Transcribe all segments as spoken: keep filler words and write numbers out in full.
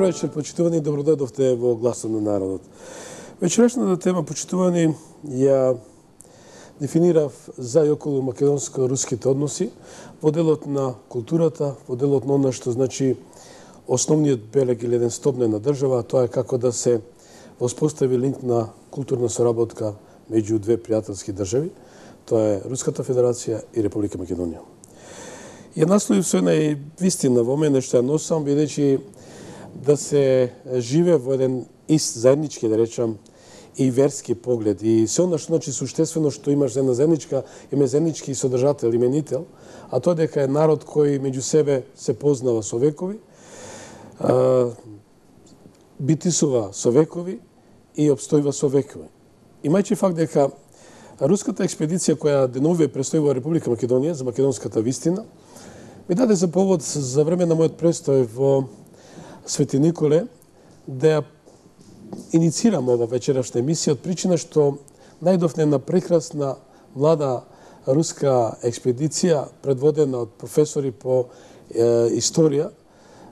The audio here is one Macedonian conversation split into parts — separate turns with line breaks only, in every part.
Добро вечер, почитувани, добродојдовте во Гласот на народот. Вечерашната тема, почитувани, ја дефинирав за и околу македонско-руските односи во делот на културата, во делот на она што значи основниот белег или еден столб на една држава, тоа е како да се воспостави линк на културна соработка меѓу две пријателски држави, тоа е Руската Федерација и Република Македонија. Ја насловив со една вистина во мене што ја носам, бидејќи да се живе во еден ист заеднички, да речам, и верски поглед. И се она што значи суштествено што имаш една заедничка, име заеднички содржател, именител, а тоа дека е народ кој меѓу себе се познава со векови, битисува со векови и обстојува со векови. Имајќи факт дека руската експедиција која деновиве престои во Република Македонија за македонската вистина, ми даде за повод за време на мојот престој во Свети Николе да ја иницирам ова вечерашна емисија од причина што најдовме една прекрасна млада руска експедиција предводена од професори по е, историја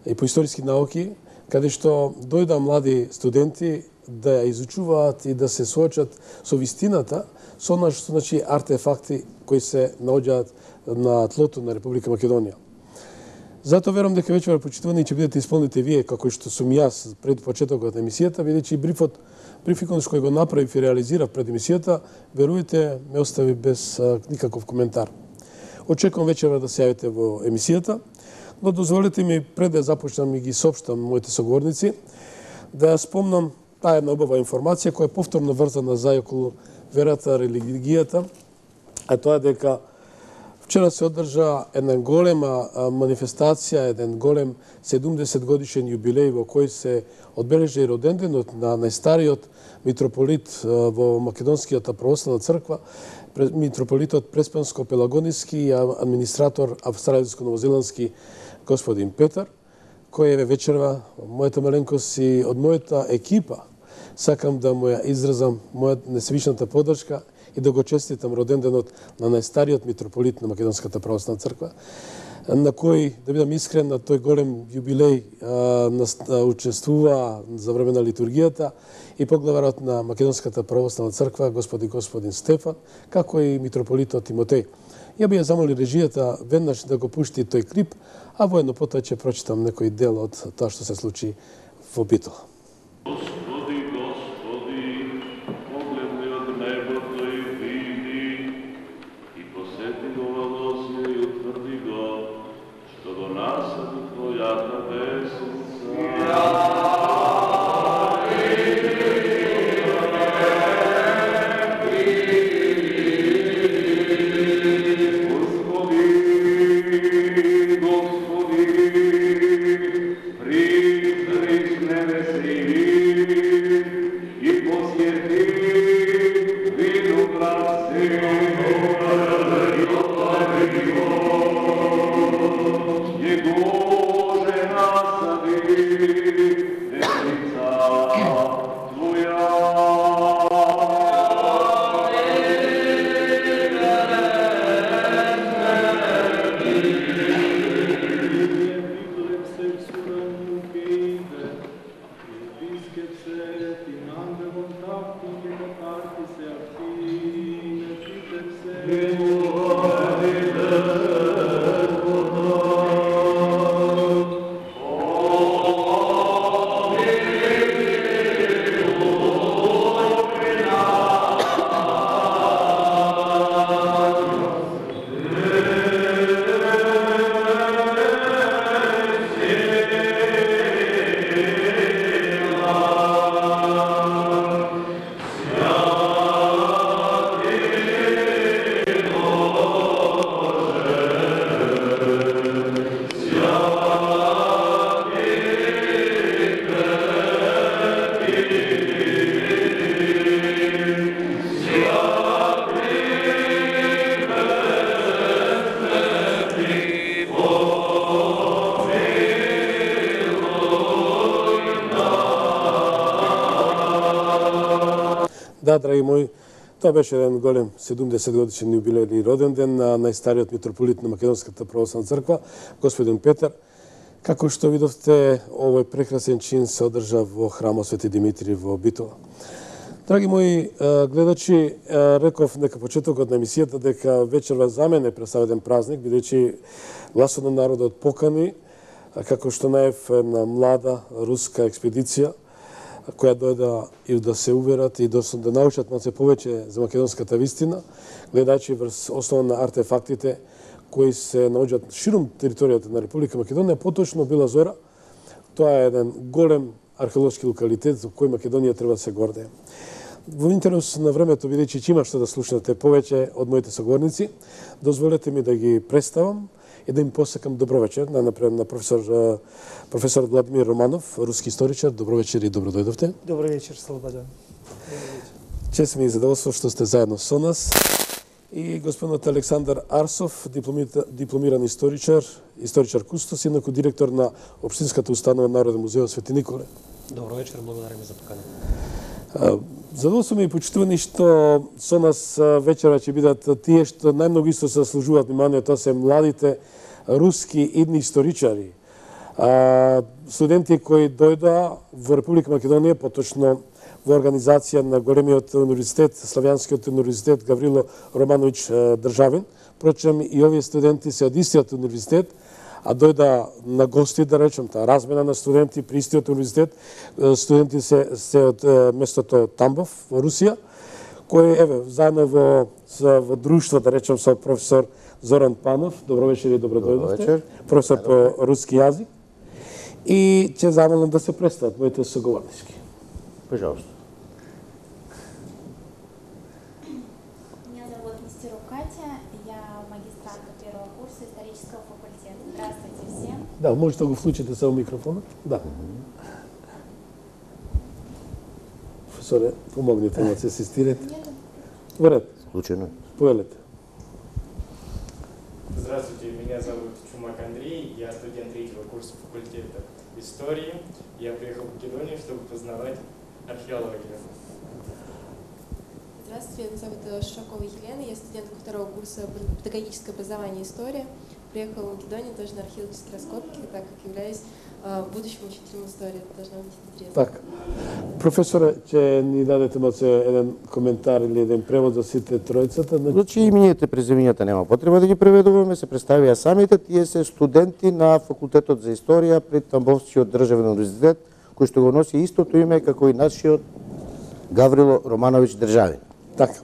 и по историски науки, каде што дојда млади студенти да ја изучуваат и да се соочат со вистината, со она што значи артефакти кои се наоѓаат на тлото на Република Македонија. Затоа верувам дека вечер почитувани ќе бидете исполните вие, како што сум јас пред почетокот на емисијата, бидејќи брифот, брификот кој го направив и реализирав пред емисијата, верујте, ме остави без а, никаков коментар. Очекувам вечера да се јавите во емисијата, но дозволете ми пред да започнам и ги соопштам моите соговорници, да ја спомнам таа една убава информација која е повторно врзана за и околу верата, религијата, а тоа дека вчера се одржа една голема манифестација, еден голем седумдесет годишен јубилеј во кој се одбележа и роденденот на најстариот митрополит во Македонскијата православна црква, митрополитот Преспанско-Пелагониски и администратор австралиско-новозеландски господин Петар, кој е вечерва мојата маленкост и од мојата екипа сакам да му ја изразам мојата несвишната поддршка и да го честитам роденденот на најстариот митрополит на Македонската православна црква, на кој, да бидам искрен, на тој голем јубилеј а, учествува за време на литургијата и поглаварот на Македонската православна црква, господи господин Стефан, како и митрополитот Тимотеј. Ја би ја замоли режијата веднаш да го пушти тој клип, а воедно потоа ќе прочитам некој дел од тоа што се случи во Битола. Да, драги мои, тоа беше еден голем седумдесет годишен јубилејни роденден на најстариот митрополит на Македонската православна црква, господин Петар. Како што видовте, овој прекрасен чин се одржа во храмот Свети Димитри во Битола. Драги мои гледачи, реков нека почетокот на емисијата дека вечерва за мене представеден празник, бидејќи Гласот на народот покани, како што наев на млада руска експедиција, која дојда и да се уверат и да научат малце повеќе за македонската вистина, гледајќи врз основа на артефактите кои се наоѓаат широм територијата на Република Македонија, поточно Бела Зора. Тоа е еден голем археолошки локалитет за кој Македонија треба да се гордее. Во интерес на времето, бидејќи ќе има што да слушнете повеќе од моите соговорници, дозволете ми да ги представам и да им посакам добро вечер на напред на професор професор Владимир Романов, руски историчар. Добро вечер и добро дојдовте.
Добро вечер, Слободан.
Чест ми и задоволство што сте заедно со нас. И господинот Александар Арсов, дипломиран историчар, историчар кустос, инаку директор на Општинската установа Народен музеј Свети Николе.
Добро вечер, благодариме за покана.
Задоволство ми и почитувани што со нас вечера ќе бидат тие што најмногу исто се заслужуваат внимание, тоа се младите руски идни историчари. Студенти кои дојда во Република Македонија, поточно во организација на големиот универзитет, Славјанскиот универзитет Гаврило Романович Државин. Впрочем, и овие студенти се од истиот универзитет, а дојда на гости, да речем, таа размена на студенти при истиот универзитет. Студенти се, се од местото Тамбов во Русија, кој еве заедно во во друштво, да речем, со професор Зоран Панов. Добро вечер и добро дојдовте. Професор по руски јазик. И ќе замолам да се представат моите соговорнички.
Пожалуйста.
Меня зовут Нестерук Катя, я магистрантка первого курса исторического факультета. Здравствуйте всем.
Да, можете да го включите само микрофона? Да. Професоре, помогнете да се асистирате. Во ред.
Случайно.
Повелете.
Здравствуйте, меня зовут Чумак Андрей, я студент третьего курса факультета истории. Я приехал в Македонию, чтобы познавать археологию.
Здравствуйте, меня зовут Шакова Елена, я студентка второго курса педагогическое образование и история. Приехала в Македонию тоже на археологические раскопки, так как являюсь э, будущим учителем истории. Это должно быть интересно.
Так. Професоре, ќе ни дадете малце еден коментар или еден превод за сите тројцата?
Значи имињата и презимињата нема потреба да ги преведуваме, се представија самите, тие се студенти на факултетот за историја при Тамбовскиот државен универзитет, кој што го носи истото име како и нашиот Гаврило Романович Државин.
Така.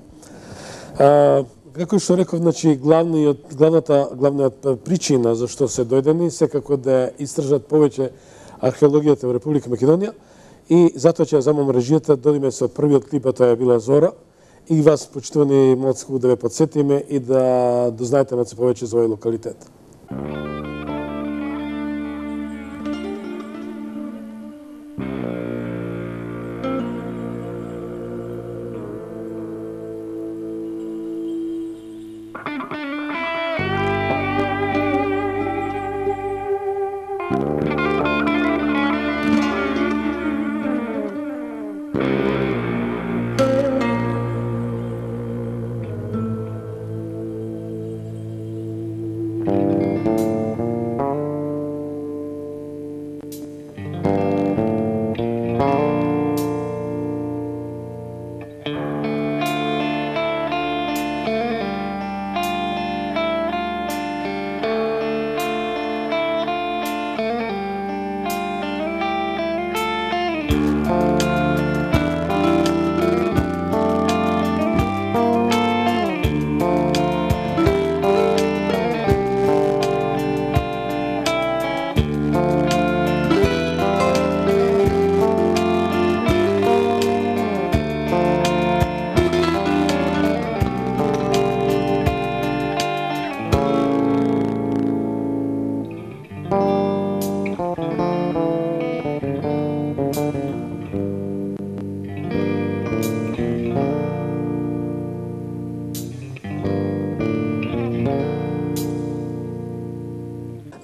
А, како што реков, значи главниот главната главната причина за што се дојдени секако да истражат повеќе археологијата во Република Македонија и затоа ќе замам режијата додиме со првиот клип, а тоа е Бела Зора, и вас почитувани малку да ве подсетиме и да дознаете малку повеќе за овој локалитет.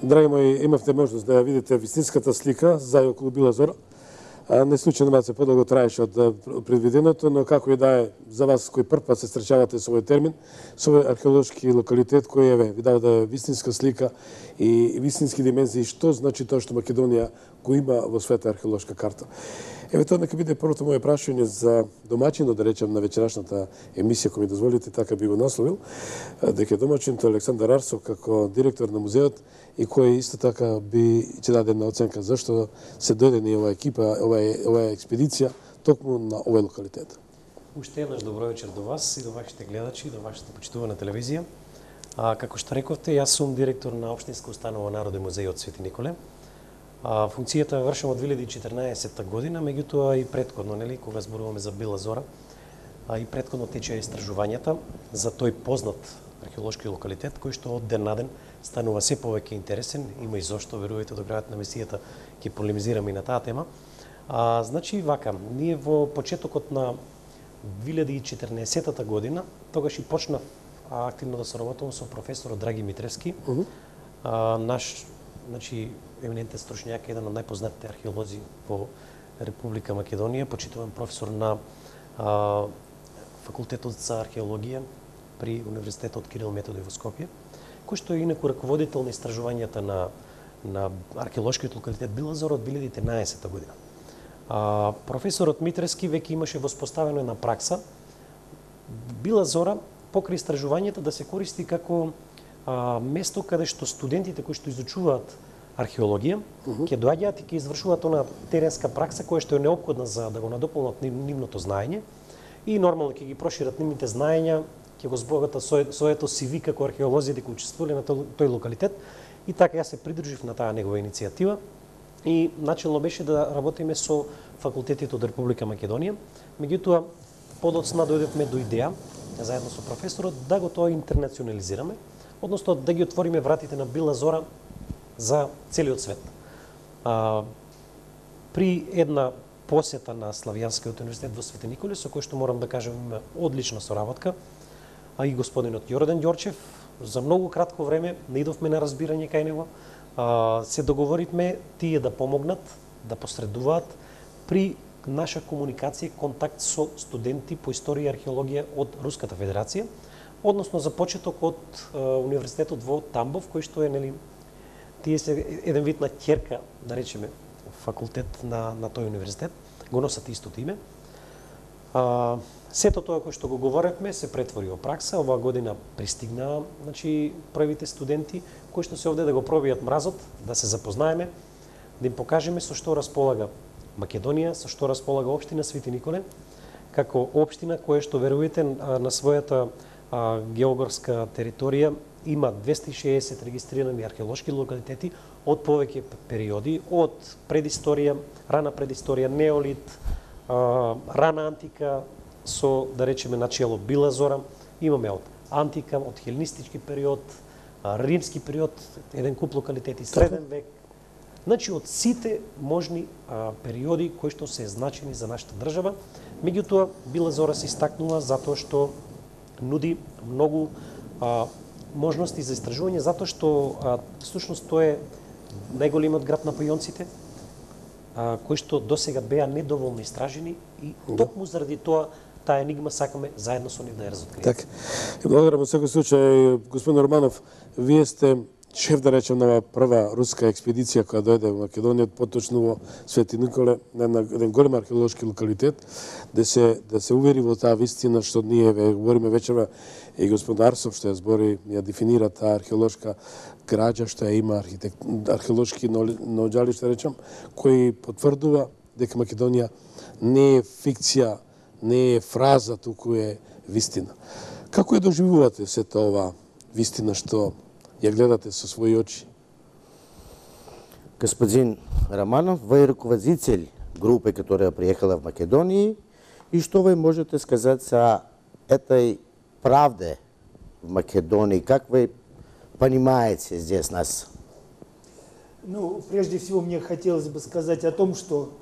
Драги мои, имавте можност да ја видите вистинската слика за и околу Бела Зора. Не случајно малце подолго траеше од предвиденото, но како и да е за вас кои прв пат се среќавате со овој термин, со овој археолошки локалитет кој еве ви дава да вистинска слика и вистински димензии што значи тоа што Македонија го има во својата археолошка карта. Еве тоа нека биде првото моје прашање за домаќинот, да речем, на вечерашната емисија, кој ми дозволите, така би го насловил, дека домаќинот Александар Арсов како директор на музеот и кој исто така би ќе даде една оценка зашто се дојде ни оваа екипа, оваа оваа експедиција токму на овој локалитет.
Уште еднаш добро вечер до вас и до вашите гледачи, до вашата почитувана телевизија. А, како што рековте, јас сум директор на Општинска установа Народен музеј од Свети Николе. А, функцијата вршам од две илјади и четрнаесетта година, меѓутоа и претходно, нели, кога зборуваме за Бела Зора, а и претходно течеа истражувањата за тој познат археолошки локалитет кој што од ден на ден станува се повеќе интересен, има и зошто, верувајте, до крајот на емисијата ќе полемизираме и на таа тема. А, значи вака, ние во почетокот на две илјади и четрнаесетта година, тогаш и почнав а, активно да соработувам со професорот Драги Митревски, uh -huh. а, наш, значи, еминентен стручњак, еден од најпознатите археолози во Република Македонија, почитуван професор на а, факултетот за археологија при Универзитетот Кирил Методи во Скопје, кој што е инаку раководител на истражувањата на на археолошкиот локалитет Бела Зора од две илјади и трнаесетта година. А, професорот Митревски веќе имаше воспоставено една пракса Бела Зора покрај истражувањата да се користи како а, место каде што студентите кои што изучуваат археологија uh -huh. ќе доаѓаат и ќе извршуваат она теренска пракса која што е неопходна за да го надополнат нивното знаење и нормално ќе ги прошират нивните знаења, ќе го збогатат своето си ви како археолози дека учествувале на тој, тој локалитет. И така јас се придружив на таа негова иницијатива и начелно беше да работиме со факултетите од Република Македонија. Меѓутоа, подоцна дојдовме до идеја, заедно со професорот, да го тоа интернационализираме, односно да ги отвориме вратите на Бела Зора за целиот свет. А, при една посета на Славјанскиот универзитет во Свети Николе, со кој што морам да кажам има одлична соработка, а и господинот Јордан Ѓорчев, за многу кратко време наидовме на разбирање кај него, а, се договоривме тие да помогнат, да посредуваат при наша комуникација, контакт со студенти по историја и археологија од Руската Федерација, односно за почеток од а, универзитетот во Тамбов, кој што е, нели, тие се еден вид на ќерка, да речеме, факултет на, на тој универзитет, го носат истото име. А, сето тоа кој што го говоревме се претвори во пракса. Оваа година пристигнаа, значи, првите студенти кои што се овде да го пробијат мразот, да се запознаеме, да им покажеме со што располага Македонија, со што располага општина Свети Николе, како општина која што, верувате, на својата а, географска територија има двесте и шеесет регистрирани археолошки локалитети од повеќе периоди, од предисторија, рана предисторија, неолит, а, рана антика, со, да речеме, начело Бела Зора, имаме од антика, од хеленистички период, а, римски период, еден куп локалитети, среден век. Значи, од сите можни а, периоди кои што се значени за нашата држава, меѓутоа Бела Зора се истакнува затоа што нуди многу а, можности за истражување, затоа што а, всушност тоа е најголемиот град на Пајонците, а, кои што досега беа недоволно истражени и токму заради тоа таа енигма сакаме заедно со нив да ја разоткриеме.
Така. Благодарам во секој случај, господин Романов, вие сте шеф, да речем, на прва руска експедиција која дојде во Македонија, поточно во Свети Николе, на еден голем археолошки локалитет, да се да се увери во таа вистина што ние ве говориме вечерва и господин Арсов што ја збори, ја дефинира таа археолошка граѓа што ја има архитект археолошки наоѓалишта, речем, кој потврдува дека Македонија не е фикција, не е фраза, туку е вистина. Како ја доживувате сета ова вистина што ја гледате со своји очи?
Господин Романов, вы руководитель группы, которая приехала в Македонию, и что вы можете сказать о этой правде в Македонии? Как вы понимаете здесь нас?
Ну, прежде всего, мне хотелось бы сказать о том, что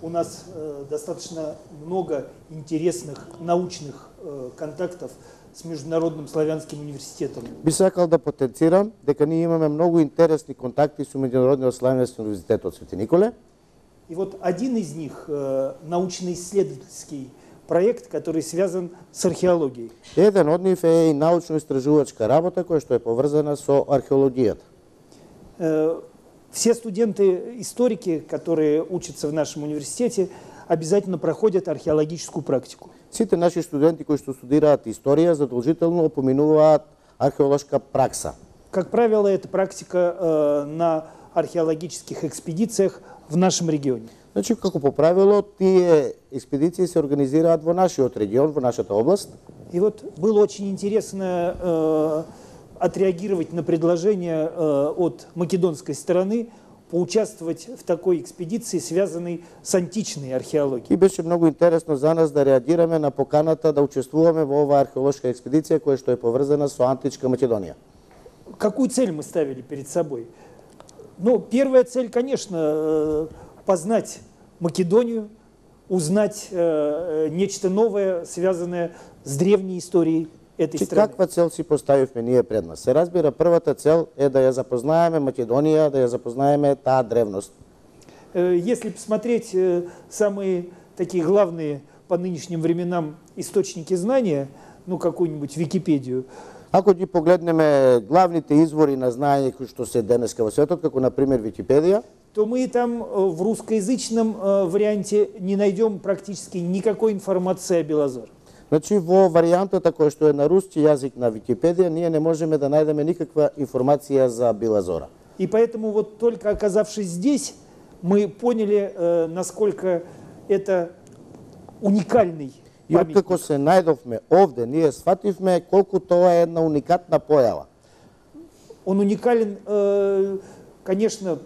у нас э, достаточно много интересных научных э, контактов с Международным славянским университетом.
Би сакал да потенцирам дека ние имаме многу интересни контакти со Меѓународниот славянски универзитет од Свети Николе.
И вот один из них э, научно-исследовательский проект, который связан с археологией.
Еден од нив е и научно-истражувачка работа која што е поврзана со археологијата.
Э, все студенты-историки, которые учатся в нашем университете, обязательно проходят археологическую практику.
Сите наши студенти кои што студираат историја задолжително поминуваат археолошка пракса.
Как правило, это практика э, на археологических экспедициях в нашем регионе.
Значи, како по правило, тие експедиции се организираат во нашиот регион, во нашата област.
И вот было очень интересно э, отреагировать на предложение э, от македонской стороны поучаствовать в такой экспедиции, связанной с античной археологией.
И беше многу интересно за нас да реагираме на поканата да учествуваме во оваа археолошка експедиција која што е поврзана со античка Македонија.
Какую цель мы ставили перед собой? Ну, первая цель, конечно, познать Македонию, узнать э, нечто новое, связанное с древней историей этой
Чи
страны.
каква цел си поставивме ние пред нас? Се разбира, првата цел е да ја запознаеме Македонија, да ја запознаеме таа древност.
Э, Если посмотреть э, самые такие главные по нынешним временам источники знания, ну, какую-нибудь Википедию,
Ако ги погледнеме главните извори на знаење кои што се денеска во светот, како на пример Википедија,
то мы там э, в русскоязычном э, варианте не найдем практически никакой информации о Белозоре.
значи во варијантата која што е на руски јазик на Википедија, ние не можеме да најдеме никаква информација за Белозора.
И поэтому вот только оказавшись здесь, мы поняли, э, насколько это уникальный
И откако
памятник.
се најдовме овде, ние сфативме колку тоа е една уникатна појава.
Он уникален, э, конечно,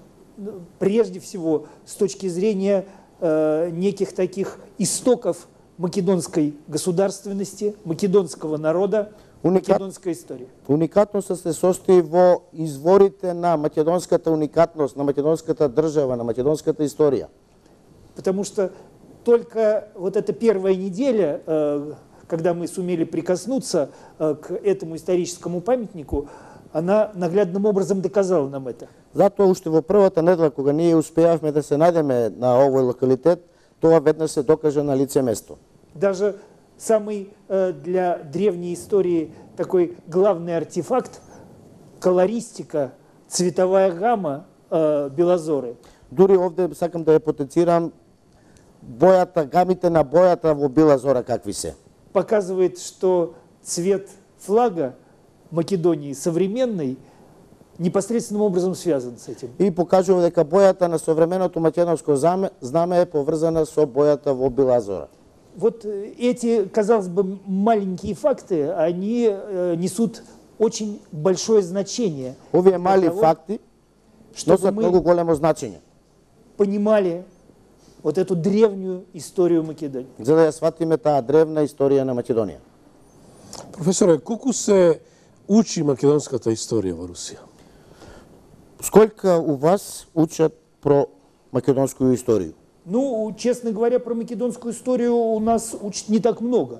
прежде всего с точки зрения э, неких таких истоков македонской государственности, македонского народа,
Уникат...
македонской истории.
Уникатноста се состои во изворите на македонската уникатност, на македонската држава, на македонската историја.
Потому что только вот эта первая неделя, э, когда мы сумели прикоснуться э, к этому историческому памятнику, она наглядным образом доказала нам это.
Затоа уште во првата недела кога ние успеавме да се најдеме на овој локалитет, тоа веднаш се докаже на лице место.
Даже самый э, для древней истории такой главный артефакт – колористика, цветовая гамма э, Белозоры.
Дури овде сакам да ја потенцирам бојата, гамите на бојата во Белозора какви се.
Показывает, что цвет флага Македонии современной непосредственным образом связан с этим.
И покажува дека бојата на современото македонско знаме, знаме е поврзана со бојата во Белозора.
Вот эти, казалось бы, маленькие факты, они э, несут очень большое значение.
Овие мали
того,
факти
чтобы
носат
мы
многу големо значење,
понимали вот эту древнюю историю Македонии.
за да ја сватиме таа древна историја на Македонија.
Професоре, колку се учи македонската историја во Русија?
Сколько у вас учат про македонскую историю?
Ну, честно говоря, про македонскую историю у нас учат не так много.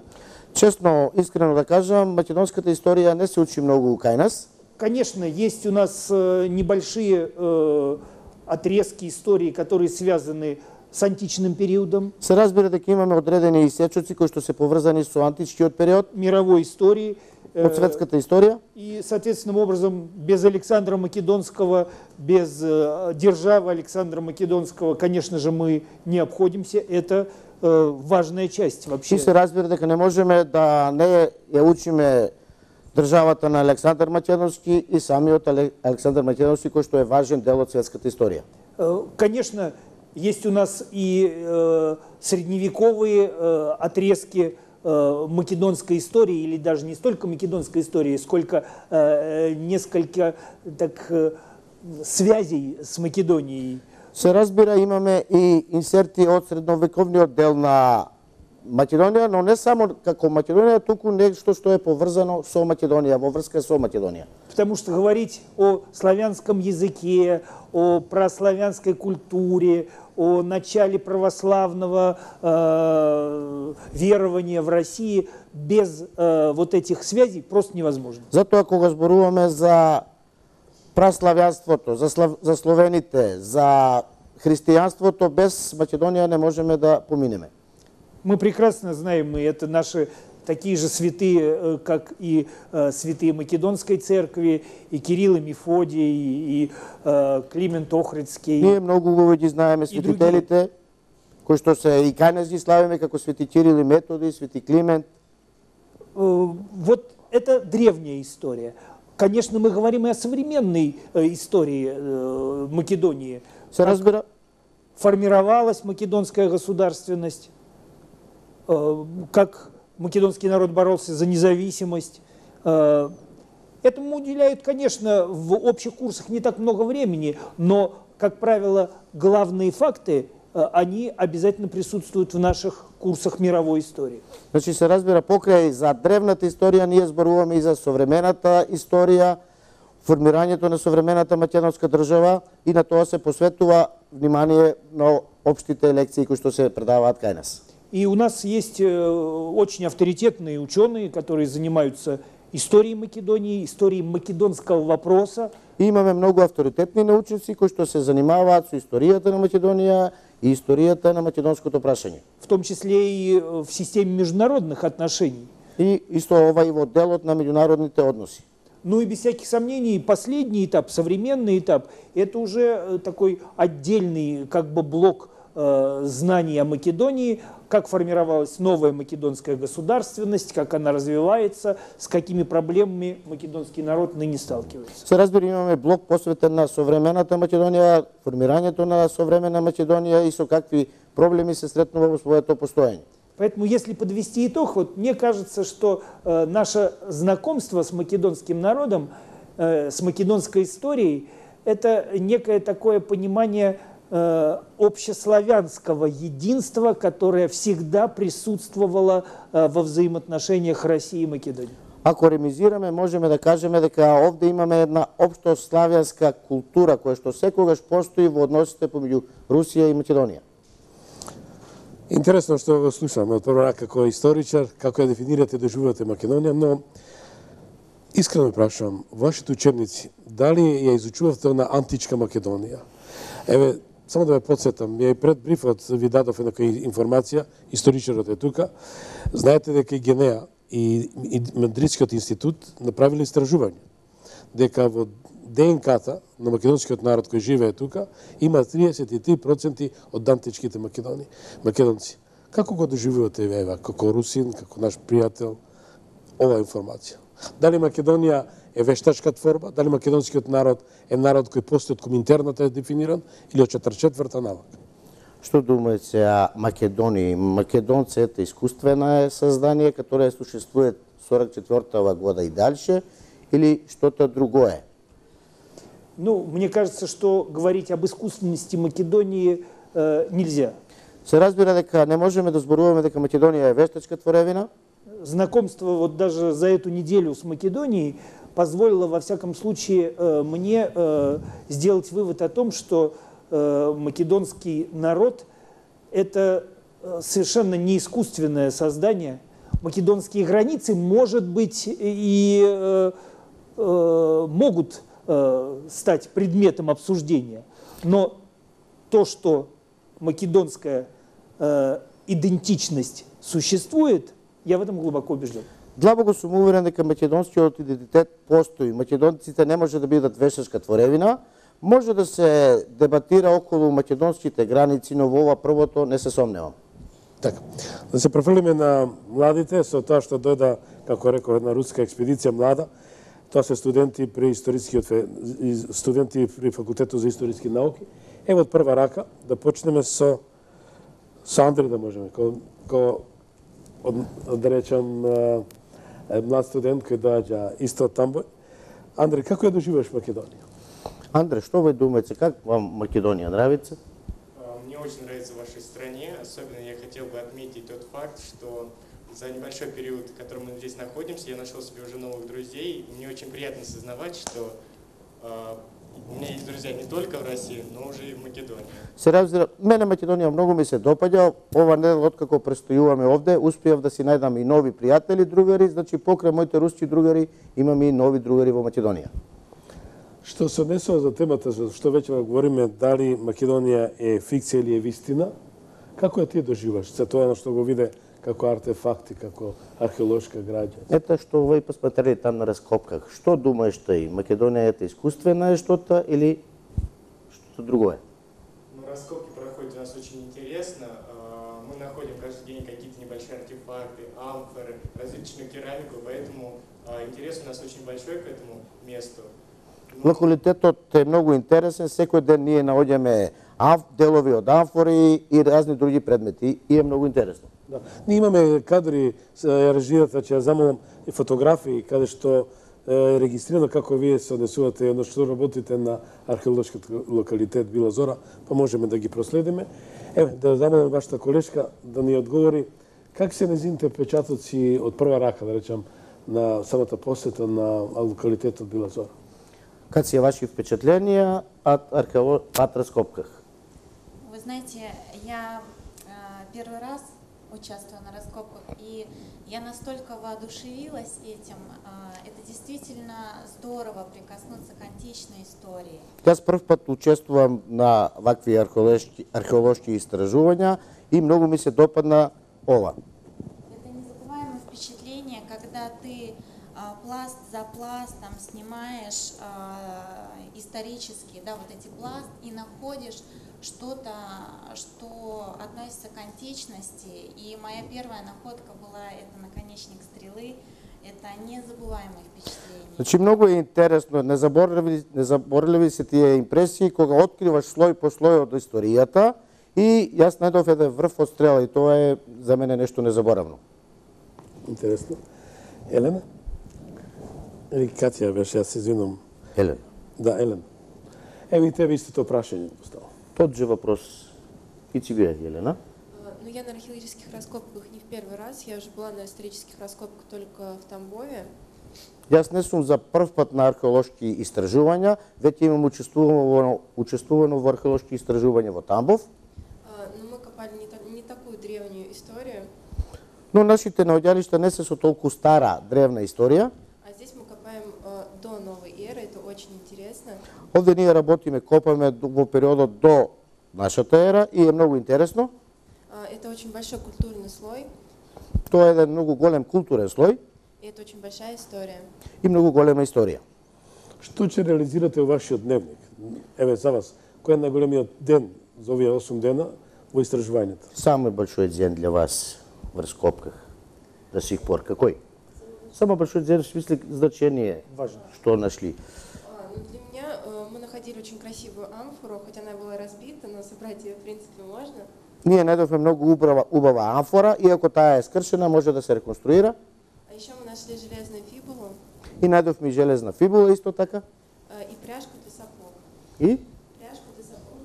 Честно, искрено да кажам, македонската историја не се учи многу кај нас.
Конечно, есть у нас э, небольшие э, отрезки истории, которые связаны с античным периодом,
Се разбира дека имаме одредени исечоци кои што се поврзани со античкиот период,
мировой истории. э,
од светската историја.
И, соответственным образом, без Александра Македонского, без э, державы Александра Македонского, конечно же, мы не обходимся. Это э, важная часть вообще.
И се разбира дека не можеме да не ја учиме државата на Александар Македонски и самиот Александар Македонски, кој што е важен дел од светската историја.
Э, Конечно, есть у нас и э, средневековые э, отрезки э, македонской истории, или даже не столько македонской истории, сколько э, несколько так, э, связей с Македонией.
Се разбира, имаме и инсерти од средновековниот дел на Македонија, но не само како Македонија, туку нешто што е поврзано со Македонија, во врска со Македонија.
Потому что говорить о славянском языке, о прославянской культуре, о начале православного э, верования в России без э, вот этих связей просто невозможно.
Затоа кога зборуваме за праславјанството, за, слав... за словените, за христијанството без Македонија не можеме да поминеме.
Мы прекрасно знаем, и это наши такие же святые, как и э, святые Македонской церкви, и Кирилл и Мефодий, и, и э, Климент Охридский.
Ние многу убаво ги знаеме светителите, кои што се и кај нас ги славиме, како свети Кирил и Методи, свети Климент.
Э, вот это древняя история. Конечно, мы говорим и о современной э, истории э, Македонии.
Се разбира?
Формировалась македонская государственность, э, как македонский народ боролся за независимость. Э, этому уделяют, конечно, в общих курсах не так много времени, но, как правило, главные факты, э, они обязательно присутствуют в наших курсах мировой истории.
Значи се разбира, покрај за древната историја ние зборуваме и за современата историја, формирањето на современата македонска држава, и на тоа се посветува внимание на општите лекции кои што се предаваат кај нас.
И у нас есть очень авторитетные ученые, которые занимаются историей Македонии, историей македонского вопроса.
И имаме многу авторитетни научници кои што се занимаваат со историјата на Македонија и историјата на македонското прашање.
В том числе и в системе международных отношений.
И исто ова и во делот на меѓународните односи.
Ну и без всяких сомнений, последний этап, современный этап, это уже такой отдельный как бы блок э, знаний о Македонии, как формировалась новая македонская государственность, как она развивается, с какими проблемами македонский народ ныне сталкивается.
Се разбира, имаме блок посветен на современата Македонија, формирањето на современа Македонија и со какви проблеми се сретнува во своето постоење.
Поэтому, если подвести итог, вот мне кажется, что э, наше знакомство с македонским народом, э, с македонской историей, это некое такое понимание э, общеславянского единства, которое всегда присутствовало э, во взаимоотношениях России и Македонии.
Ако ремизираме, можеме да кажеме дека овде имаме една општославјанска култура која што секогаш постои во односите помеѓу Русија и Македонија.
Интересно што го слушаме од прва рака како историчар, како ја дефинирате да живеете Македонија, но искрено прашувам, вашите учебници, дали ја изучувавте на античка Македонија? Еве, само да ве подсетам, ја и пред брифот ви дадов една информација, историчарот е тука, знаете дека и Генеа и, и Мадридскиот институт направиле истражување, дека во ДНК-та на македонскиот народ кој живее тука има триесет и три проценти од античките македони, македонци. Како го доживувате еве како русин, како наш пријател ова информација? Дали Македонија е вештачка творба, дали македонскиот народ е народ кој постои од коминтерната е дефиниран или од четридесет и четврта навака?
Што думаете за Македонија? Македонци е искуствено создание, которое существует сорок четвртого года и дальше, или что-то другое?
Ну, мне кажется, что говорить об искусственности Македонии э, нельзя.
Се разбира дека не можеме да зборуваме дека Македонија е вештачка творевина.
Знакомство вот даже за эту неделю с Македонией позволило, во всяком случае, э, мне э, сделать вывод о том, что э, македонский народ – это совершенно не искусственное создание. Македонские границы, может быть, и э, э, могут стать предметом обсуждения. Но то, что македонская э, идентичность существует, я в этом глубоко убежден.
Длабоко сум уверен дека македонскиот идентитет постои. Македонците не може да бидат вештачка творевина. Може да се дебатира околу македонските граници, но во ова првото не се сомневам.
Така. Да се префрлиме на младите со тоа што дојда, како реков, една руска експедиција млада. Тоа се студенти при историскиот студенти при факултетот за историски науки. Ево од прва рака да почнеме со со Андре, да можеме, ко, ко од, да речам млад студент кој доаѓа исто од Тамбој. Андре, како ја доживуваш Македонија?
Андре, што ви думаете, как вам Македонија нравится?
Мне очень нравится в вашей стране, особенно я хотел бы отметить тот факт, что за небольшой период, в котором мы здесь находимся, я нашел себе уже новых друзей. Мне очень приятно осознавать, что э, у меня есть друзья не только в России, но уже и в Македонии.
Се разбира, мене Македонија многу ми се допаѓа. Ова недела откако престојуваме овде, успеав да си најдам и нови пријатели, другари, значи покрај моите руски другари имам и нови другари во Македонија.
Што се однесува за темата за што веќе говориме, дали Македонија е фикција или е вистина, како ја ти доживаш? Се тоа на што го виде како артефакти, како археолошка граѓа?
Ето што овој посмотрели там на раскопках. Што думаеш тој? Македонија е искусствена е што-то или што друго е?
Ну, раскопки проходят у нас очень интересно. Мы находим каждый день какие-то небольшие артефакты, амфоры, различную керамику, поэтому интерес у нас очень большой к этому месту.
Локалитетот е многу интересен, секој ден ние наоѓаме делови од амфори и разни други предмети и е многу интересно.
Да. Ние имаме кадри, ја режирата, ќе ја замолам и фотографии, каде што е регистрирано како вие се однесувате, едно што работите на археолошкиот локалитет Била Зора, па можеме да ги проследиме. Еве, да замолам вашата колешка да ни одговори как се незините печатоци од прва рака, да речам, на самата посета на локалитетот Била Зора.
Как се ваши впечатления от археолог от раскопках?
Вы знаете, я э, первый раз участвую на раскопках, и я настолько воодушевилась этим. Э, это действительно здорово прикоснуться к античной истории.
Јас прв пат учествувам на вакви археолошки, археолошки истражувања и многу ми се допадна ова.
Это незабываемое впечатление, когда ты пласт за пластом снимаешь э, исторически, да, вот эти пласт и находишь что-то, что относится к античности. И моя первая находка была это наконечник стрелы. Это незабываемое впечатление.
Значи многу е интересно, не заборавли, не заборавли се тие импресии кога откриваш слој по слој од историјата и јас најдов еден врв од стрела и тоа е за мене нешто незаборавно.
Интересно. Елена? Или Катја беше, јас се извинувам.
Елена.
Да, Елена. Ево и тебе истото прашање поставам.
Тот же вопрос и тебе, Елена.
Ну, я на археологических раскопках не в первый раз, я уже была на исторических раскопках только в Тамбове.
Јас не сум за прв пат на археолошки истражувања, веќе имам учествувано, учествувано во археолошки истражувања во Тамбов.
Но мы копали не, не такую древнюю историю.
Но нашите наоѓалишта не се со толку стара, древна историја.
А здесь мы копаем э, до новой эры, это очень интересно.
Овде ние работиме, копаме во периодот до нашата ера и е многу интересно.
Это очень большой културный слой.
Тоа е еден многу голем културен слој.
И это очень большая история.
И многу голема историја.
Што ќе реализирате во вашиот дневник? Еве за вас, кој е најголемиот ден за овие осум дена во истражувањето?
Самый большой ден для вас в раскопках до сих пор какой? Самый большой ден в смысле значение,
Важно.
Что нашли?
А, ну для меня э, мы находили очень красивую амфору, хоть она была разбита, но собрать ее в принципе можно.
Ние најдовме многу убава, убава амфора, иако таа е скршена, може да се реконструира.
А еще мы нашли железную фибулу
И најдовме железна фибула исто така.
э, и пряжку для сапог.
И
Пряжку для сапог.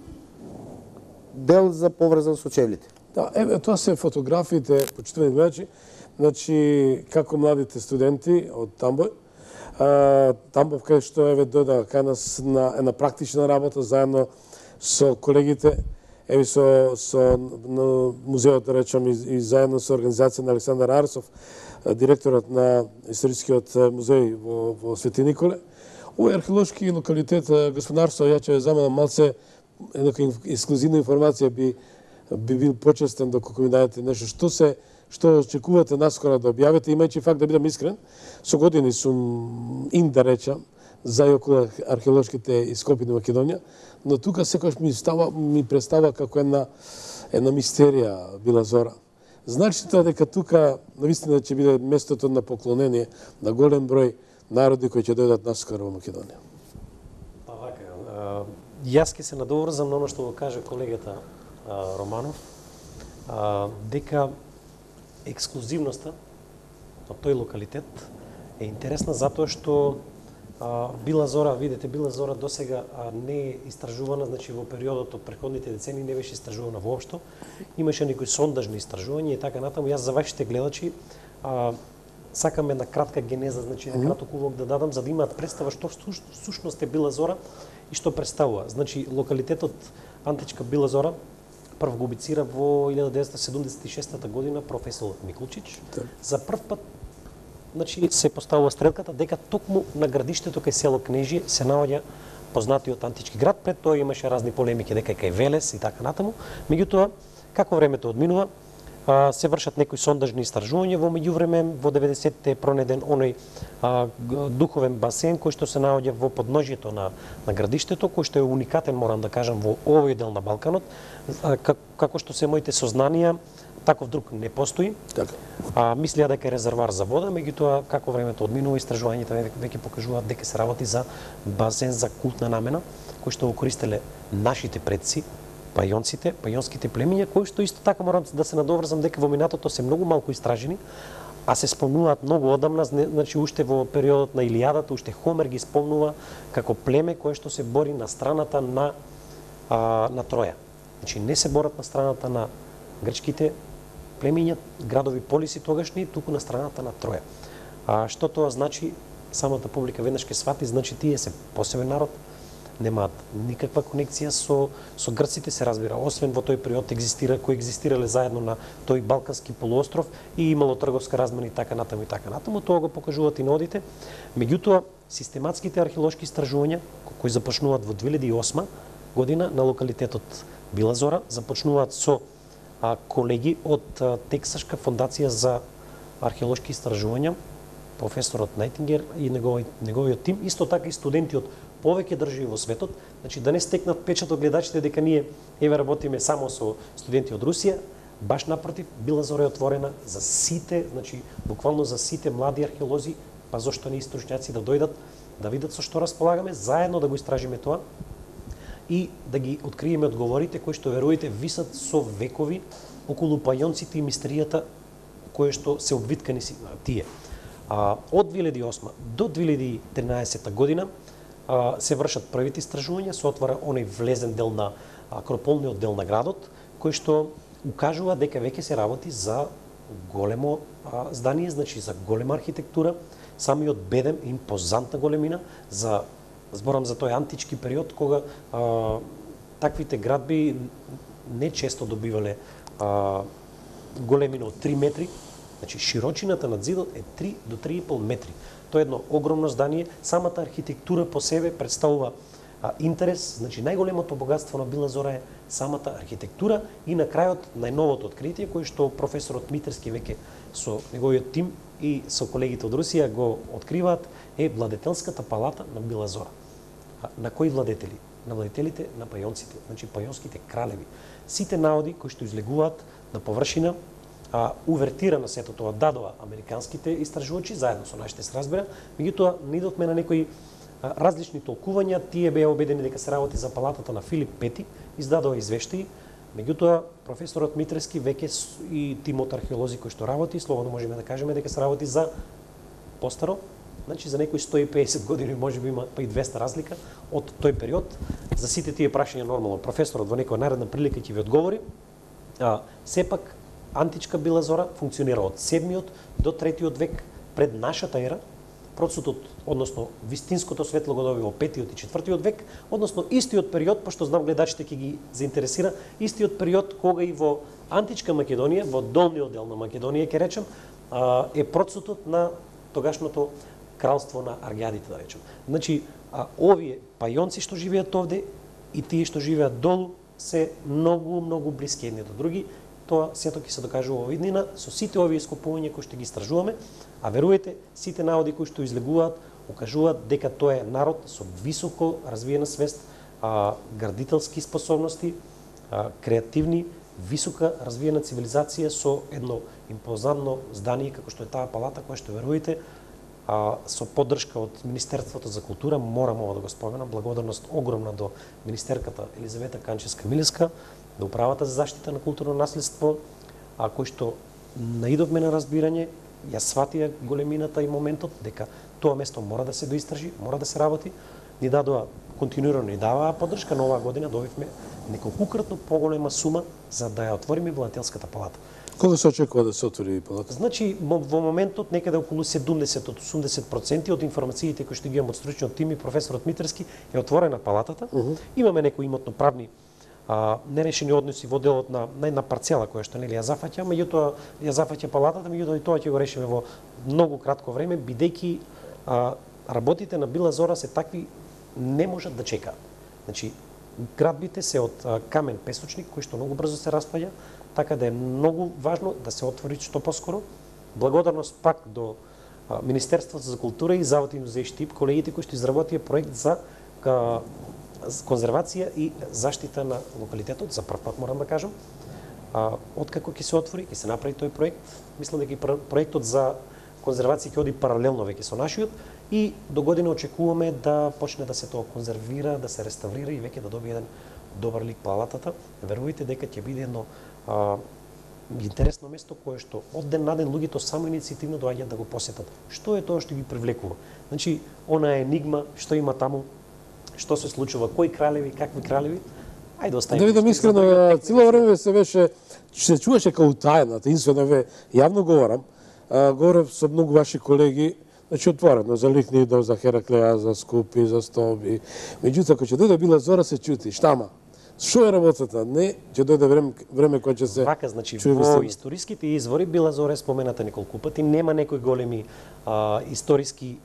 дел за поврзан со чевлите.
Да, еве тоа се фотографиите, почитувани гледачи, значи како младите студенти од Тамбов, а, Тамбов кај што еве дојда кај нас на една практична работа заедно со колегите, еве со со на музеот да речам и, и заедно со организација на Александар Арсов, директорот на историскиот музеј во во Свети Николе. Овој археолошки локалитет господарство, ја ќе замалам малце една ексклузивна информација би би бил почестен доколку ми дадете нешто што се што очекувате наскоро да објавите, имајќи факт да бидам искрен, со години сум ин да речам за и околу археолошките ископи на Македонија, но тука секогаш ми става ми представа како една една мистерија Била Зора. Значи тоа дека тука навистина ќе биде местото на поклонение на голем број народи кои ќе дојдат наскоро во Македонија.
Па вака, јас ќе се надоврзам на оно што го каже колегата а, Романов, а, дека ексклузивноста на тој локалитет е интересна затоа што а, Била Зора, видите, Била Зора досега а, не е истражувана, значи во периодот од претходните децени не беше истражувана воопшто. Имаше некои сондажни истражувања и така натаму. Јас за вашите гледачи а, сакам една кратка генеза, значи mm -hmm. краток увод да дадам за да имаат представа што всушност е Била Зора и што представува. Значи локалитетот античка Била Зора прв го обицира во илјада деветстотини седумдесет и шеста година професорот Миклучич. Да. За прв пат значи се поставува стрелката дека токму на градиштето кај село Кнежи се наоѓа најпознатиот антички град. Пред тоа имаше разни полемики дека кај Велес и така натаму. Меѓутоа, како времето одминува, се вршат некои сондажни истражувања. Во меѓувреме, во деветдесетте е пронеден оној а, духовен басен кој што се наоѓа во подножјето на, на градиштето, кој што е уникатен, морам да кажам, во овој дел на Балканот. А, как, како што се моите сознанија, таков друг не постои.
Така.
А, мислеа дека е резервар за вода, меѓутоа како времето одминува, истражувањата веќе покажуваат дека се работи за базен за култна намена, кој што го користеле нашите предци, пајонците, пајонските племиња, кои што исто така морам да се надоврзам дека во минатото се многу малку истражени, а се спомнуваат многу одамна, значи уште во периодот на Илијадата, уште Хомер ги спомнува како племе кое што се бори на страната на а, на Троја. Значи не се борат на страната на грчките племиња, градови полиси тогашни, туку на страната на Троја. А што тоа значи, самата публика веднаш ќе свати, значи тие се посебен народ, немаат никаква конекција со со грците, се разбира, освен во тој период екзистира кои екзистирале заедно на тој балкански полуостров и имало трговска размена и така натаму и така натаму, тоа го покажуваат и нодите. Меѓутоа, систематските археолошки истражувања кои започнуваат во две илјади и осма година на локалитетот Била Зора, започнуваат со а, колеги од а, Тексашка фондација за археолошки истражувања, професорот Најтингер и негови, неговиот тим, исто така и студенти од повеќе држави во светот, значи да не стекнат печат од гледачите дека ние еве работиме само со студенти од Русија, баш напротив, Била Зора е отворена за сите, значи буквално за сите млади археолози, па зошто не и стручњаци да дојдат, да видат со што располагаме, заедно да го истражиме тоа и да ги откриеме одговорите кои што веруете висат со векови околу пајонците и мистеријата кои што се обвиткани си тие. А, од две илјади и осма до две илјади и тринаесетта година а, се вршат првите истражувања, се отвара оној влезен дел на акрополниот дел на градот, кој што укажува дека веќе се работи за големо а, здание, значи за голема архитектура, самиот бедем и импозантна големина, за зборам за тој антички период кога а, таквите градби не често добивале а, големина од три метри. Значи, широчината на зидот е три до три и пол метри. Тоа е едно огромно здание. Самата архитектура по себе представува а, интерес. Значи, најголемото богатство на Била Зора е самата архитектура и на крајот најновото откритие, кој што професорот Митерски веќе со неговиот тим и со колегите од Русија го откриваат, е владетелската палата на Била Зора. А, на кои владетели? На владетелите на пајонците, значи пајонските кралеви. Сите наоди кои што излегуваат на површина, а, увертира на сето тоа дадоа американските истражувачи, заедно со нашите се разбира, меѓутоа не идовме на некои а, различни толкувања, тие беа убедени дека се работи за палатата на Филип Пети, издадоа извештаи, меѓутоа професорот Митерски веќе и тимот археолози кои што работи, слободно можеме да кажеме дека се работи за постаро, значи за некои сто и песет години, можеби има па и двеста разлика од тој период. За сите тие прашања нормално професорот во некоја наредна прилика ќе ви одговори. А, сепак античка Била Зора функционира од седмиот до третиот век пред нашата ера. Процесот, односно вистинското светло го доби во петиот и четвртиот век, односно истиот период, пошто знам гледачите ќе ги заинтересира, истиот период кога и во античка Македонија, во долниот дел на Македонија, ќе речем, е процесот на тогашното кралство на Аргјадите, да речем. Значи, а, овие пајонци што живеат овде и тие што живеат долу се многу, многу блиски едни до други. Тоа сето ќе се докажува во иднина со сите овие ископувања кои што ги истражуваме, а веруете, сите наоди кои што излегуваат укажуваат дека тоа е народ со високо развиена свест, а, градителски способности, а, креативни, висока развиена цивилизација со едно импозантно здание како што е таа палата која што веруете, а, со поддршка од Министерството за култура, морам ова да го споменам, благодарност огромна до министерката Елизавета Канчевска-Милевска, до Управата за заштита на културно наследство, а кој што наидовме на разбирање, ја сватија големината и моментот дека тоа место мора да се доистражи, мора да се работи, ни дадоа континуирано ни даваа поддршка, но оваа година добивме неколкукратно поголема сума за да ја отвориме владетелската палата.
Кога се очекува да се отвори палата?
Значи, во моментот некаде околу седумдесет до осумдесет проценти од информациите кои што ги имам од стручниот тим и професорот Митерски е отворена палатата. Uh -huh. Имаме некои имотно-правни а, нерешени односи во делот на на една парцела која што нели ја зафаќа, меѓутоа ја зафаќа палатата, меѓутоа и тоа ќе го решиме во многу кратко време, бидејќи а, работите на Била Зора се такви не можат да чекаат. Значи, градбите се од а, камен песочник, кој што многу брзо се распаѓа, така да е многу важно да се отвори што поскоро. Благодарност пак до а, Министерството за култура и Завод музеј Штип, колегите кои што изработија проект за а, конзервација и заштита на локалитетот, за прв пат морам да кажам. А, откако ќе се отвори, ќе се направи тој проект, мислам дека и проектот за конзервација ќе оди паралелно веќе со нашиот и до година очекуваме да почне да се тоа конзервира, да се реставрира и веќе да добие еден добар лик палатата. Верувајте дека ќе биде едно а, интересно место кое што од ден на ден луѓето само иницијативно доаѓаат да го посетат. Што е тоа што ги привлекува? Значи, она енигма, што има таму, што се случува, кои кралеви, какви кралеви, ајде оставиме.
Да видам искрено, цело време се беше, се чуваше као тајна, таинствено ве, јавно говорам, а, говорев со многу ваши колеги, значи отворено, за Ликнидов, за Хераклеа, за Скупи, за Стоби. Меѓутоа, кога ќе дојде Била Зора, се чути, штама? Што е работата? Не, ќе дојде време, време кога ќе се
Вака, значи, во историските извори Била Зора е спомената неколку пати, нема некои големи а, историски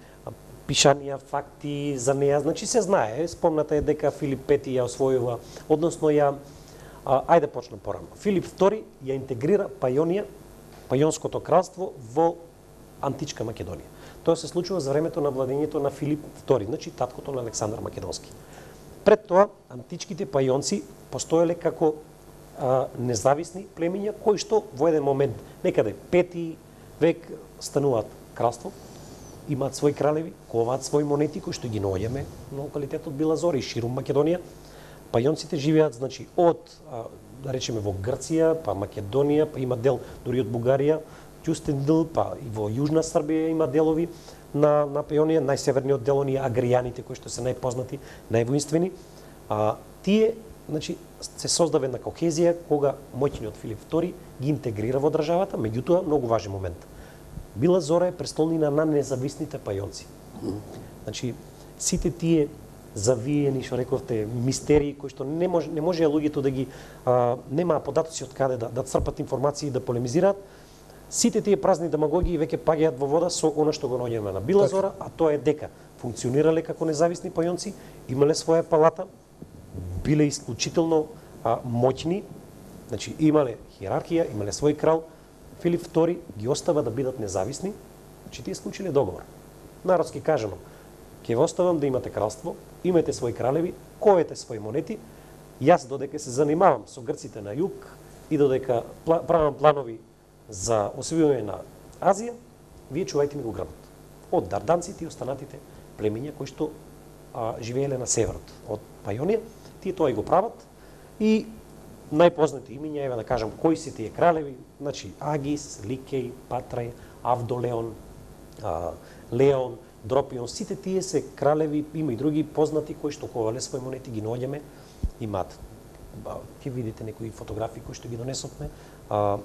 пишанија, факти за неја, значи се знае, спомната е дека Филип Пети ја освојува, односно ја, а, ајде почнам порано. Филип Втори ја интегрира Пајонија, Пајонското кралство во античка Македонија. Тоа се случува за времето на владењето на Филип Втори, значи таткото на Александар Македонски. Пред тоа, античките пајонци постоеле како а, независни племиња, кои што во еден момент, некаде пети век, стануваат кралство, имаат своји кралеви, коваат своји монети кои што ги наоѓаме на локалитетот Била Зора и ширум Македонија. Пајонците живеат, значи, од, а, да речеме, во Грција, па Македонија, па има дел дури од Бугарија, Ќустендил, па и во Јужна Србија има делови на, на Пајонија, најсеверниот дел оние агријаните кои што се најпознати, највоинствени. А, тие, значи, се создава една кохезија кога моќниот Филип Втори ги интегрира во државата, меѓутоа многу важен момент. Била Зора е престолнина на независните пајонци. Значи, сите тие завиени, што рековте, мистерии кои што не може не може луѓето да ги а, немаа податоци од каде да да црпат информации и да полемизираат. Сите тие празни демагогии веќе паѓаат во вода со она што го наоѓаме на Била Зора, а тоа е дека функционирале како независни пајонци, имале своја палата, биле исклучително а, моќни, значи имале хиерархија, имале свој крал. Филип Втори ги остава да бидат независни, че тие склучиле договор. Народски кажано, ќе ве оставам да имате кралство, имате своји кралеви, коете своји монети, јас додека се занимавам со грците на југ и додека правам планови за освојување на Азија, вие чувајте ми го грбот. Од дарданците и останатите племиња кои што а, живееле на северот од Пајонија, тие тоа и го прават и најпознати имиња, еве да кажам, кои се тие кралеви, значи Агис, Ликеј, Патрај, Авдолеон, а, Леон, Дропион, сите тие се кралеви, има и други познати кои што ковале своји монети, ги наоѓаме, имаат. Ќе видите некои фотографии кои што ги донесовме. А,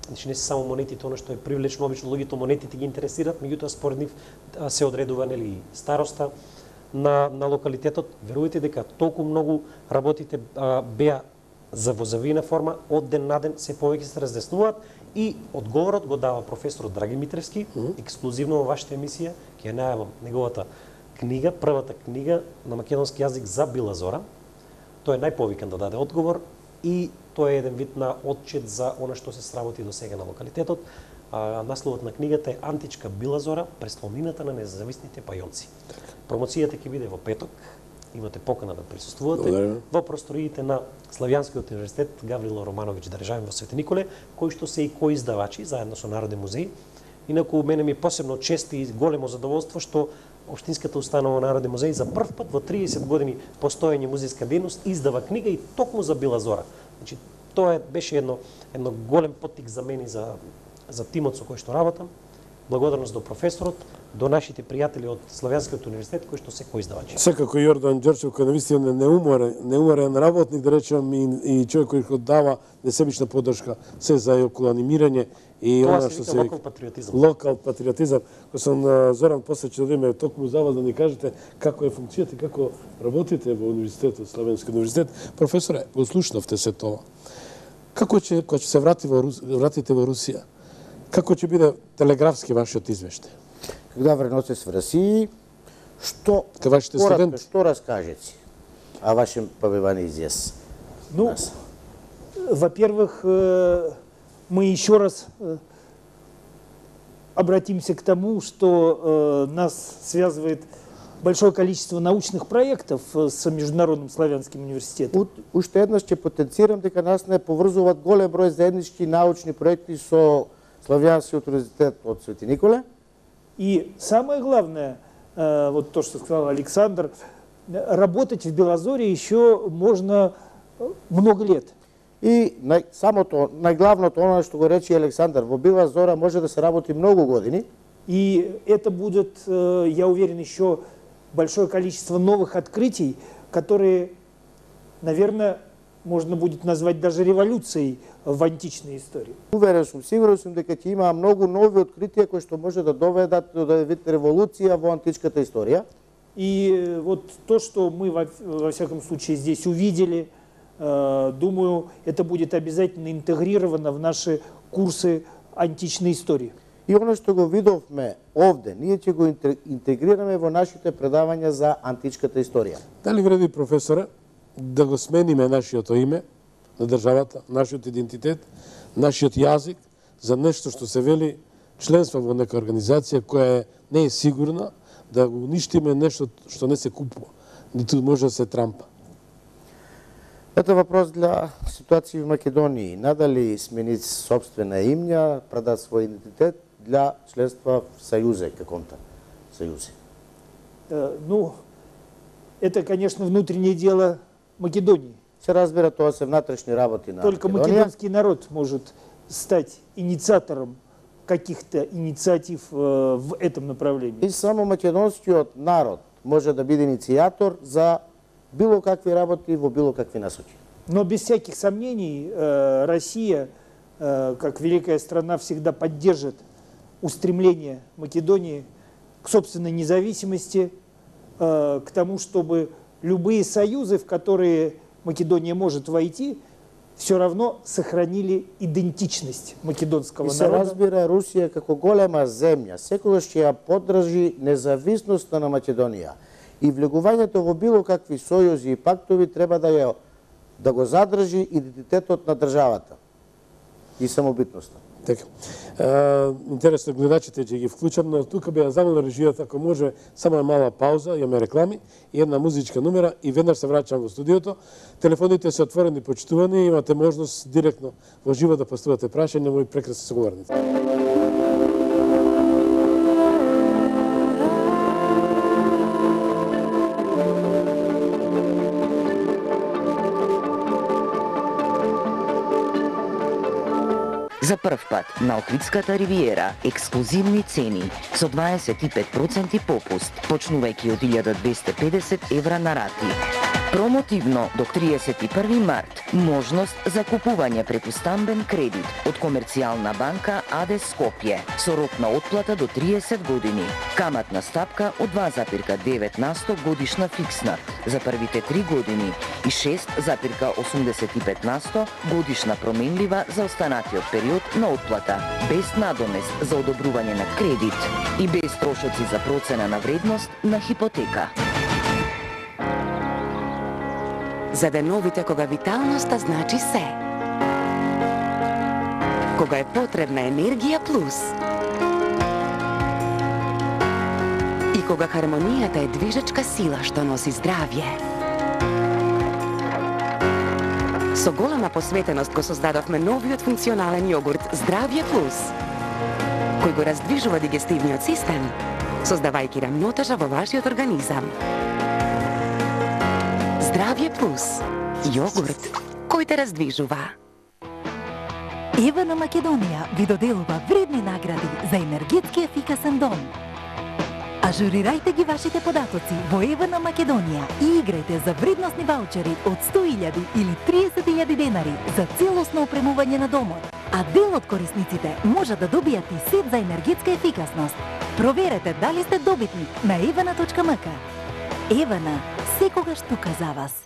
значи не се само монетите, она што е привлечно, обично луѓето монетите ги интересираат, меѓутоа според нив се одредува нели староста на на локалитетот. Верувајте дека толку многу работите а, беа за во завиена форма, од ден на ден се повеќе се разјаснуваат и одговорот го дава професор Драги Митревски, mm -hmm. ексклузивно во вашата емисија, ќе ја најавам неговата книга, првата книга на македонски јазик за Била Зора. Тој е најповикан да даде одговор и тоа е еден вид на отчет за она што се сработи до сега на локалитетот. А, насловот на книгата е Античка Била Зора, престолнината на независните пајонци. Промоцијата ќе биде во петок. Имате покана да присуствувате. Благодарим. Во просториите на Славјанскиот универзитет Гаврило Романовиќ Државин во Свети Николе, кои што се и коиздавачи заедно со Народен музеј. Инаку мене ми е посебно чест и големо задоволство што Општинската установа Народен музеј за прв пат во триесет години постоење музејска дејност издава книга и токму за Била Зора. Значи тоа е, беше едно едно голем поттик за мене за за тимот со кој што работам. Благодарност до професорот, до нашите пријатели од Славјанскиот универзитет кои што се коиздавачи.
Секако Јордан Ѓорчев кој навистина неуморен, неуморен работник, да речем, и, и човек кој дава несебична поддршка се за околу анимирање и
тоа
она
што
се
локал патриотизам.
Локал патриотизам. Кој сум Зоран после ќе додиме токму за вас да ни кажете како е функцијата и како работите во универзитетот, Славјански универзитет. Професоре, го слушнавте се тоа. Како ќе кога ќе се врати во Рус, вратите во Русија? Како ќе биде телеграфски вашиот извештај?
Когда вернете с в России, Што,
Ка вашите
коротко,
студенти?
што раскажете о вашем побивании здесь?
Ну,
Нас.
во-первых, э, мы еще раз э, обратимся к тому, что э, нас связывает большое количество научных проектов э, с Международным славянским университетом.
Ут- Уште еднаш ќе потенцирам дека нас не поврзуваат голем број заеднички научни проекти со Славјанскиот универзитет од Свети Николе.
И самое главное, э, вот то, что сказал Александр, э, работать в Белозоре еще можно э, много лет.
И нај, самото, најглавното, оно што го рече Александар, во Бела Зора може да се работи многу години.
И это будет, э, я уверен, еще большое количество новых открытий, которые, наверное, можно будет назвать даже революцией в античной истории.
Уверен сум, сигурен сум дека ќе има многу нови откритија кои што може да доведат до да вид револуција во античката историја.
И э, вот то, что мы во, во всяком случае здесь увидели, э, думаю, это будет обязательно интегрировано в наши курсы античной истории.
И оно што го видовме овде, ние ќе го интер- интегрираме во нашите предавања за античката историја.
Дали вреди, професоре, да го смениме нашиот име на државата, нашиот идентитет, нашиот јазик за нешто што се вели членство во нека организација која е, не е сигурна, да го уништиме нешто што не се купува, ниту може да се трампа.
Ето вопрос для ситуации в Македонии. Надали сменить собствена имја, продать свој идентитет для членства в Союзе каком-то Союзе?
Э, ну, это, конечно, внутреннее дело Македонии.
Се разбира, тоа се внатрешни работи на
Только
Македонија.
македонский народ может стать инициатором каких-то инициатив э, в этом направлении.
И само македонскиот народ може да биде иницијатор за било какви работи во било какви насоки.
Но без всяких сомнений э, Россия, э, как великая страна, всегда поддержит устремление Македонии к собственной независимости, э, к тому, чтобы любые союзы, в которые Македония может войти, все равно сохранили идентичность македонского
И се
народа.
разбира, Русија како голема земја секогаш ќе ја поддржи независноста на Македонија. И влегувањето во било какви сојузи и пактови треба да ја да го задржи идентитетот на државата и самобитноста.
Така. Е, интересно, гледачите ќе ги вклучам, но тука би ја замолил режијата, ако може, само една мала пауза, имаме реклами и една музичка номера и веднаш се враќам во студиото. Телефоните се отворени, почитувани, имате можност директно во живо да поставате прашања мои прекрасни соговорници.
За прв пат на Охридската ривиера ексклузивни цени со дваесет и пет проценти попуст, почнувајќи од илјада двесте и педесет евра на рати. Промотивно до триесет и први март можност за купување преку стамбен кредит од Комерцијална банка АД Скопје со рок на отплата до триесет години. Каматна стапка од два запирка девет на сто годишна фиксна за првите три години и шест запирка осумдесет и пет на сто годишна променлива за останатиот период на отплата, без надомест за одобрување на кредит и без трошоци за процена на вредност на хипотека.
За деновите кога виталноста значи се. Кога е потребна енергија плюс. И кога хармонијата е движечка сила што носи здравје. Со голема посветеност го создадовме новиот функционален јогурт Здравје плюс, кој го раздвижува дигестивниот систем, создавајќи рамнотежа во вашиот организам. Здравје плюс. Јогурт кој те раздвижува.
Ева на Македонија ви доделува вредни награди за енергетски ефикасен дом. Ажурирајте ги вашите податоци во Ева на Македонија и играјте за вредносни ваучери од сто илјади или триесет илјади денари за целосно опремување на домот. А дел од корисниците може да добијат и сет за енергетска ефикасност. Проверете дали сте добитник на евана точка ем ка. Евана, секогаш тука за вас.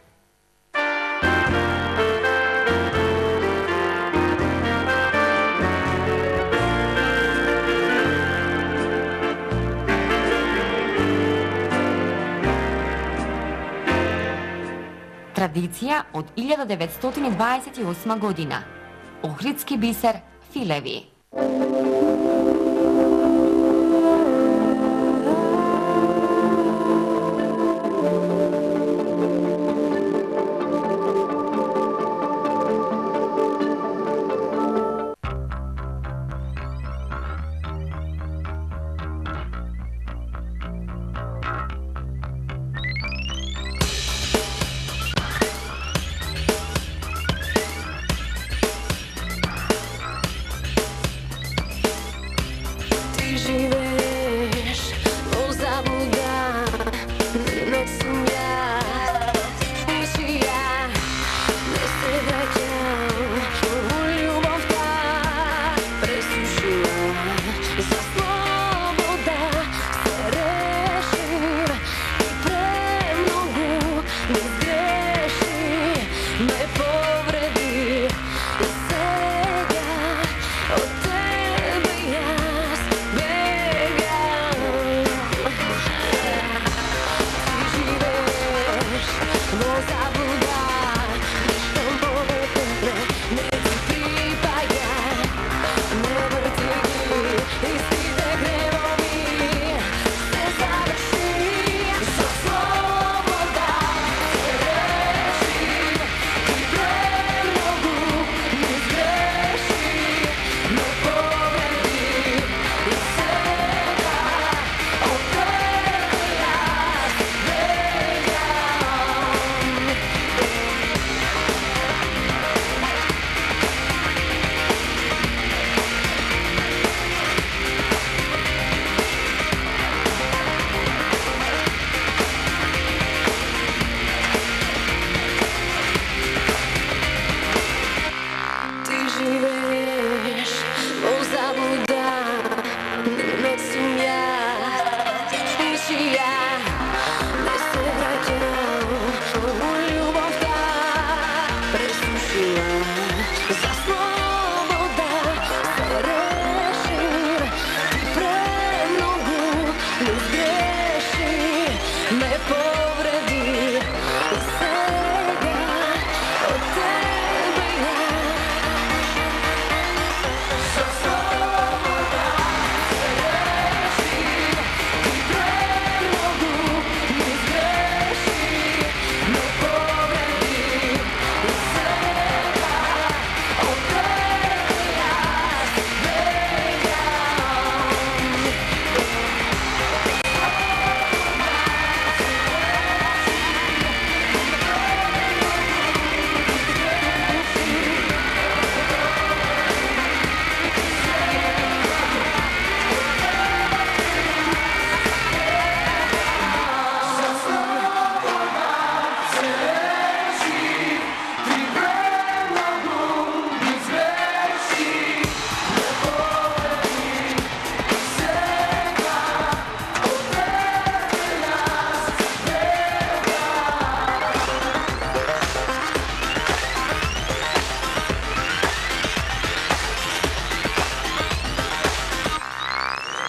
Традиција од илјада деветстотини дваесет и осма година. Охридски бисер филеви.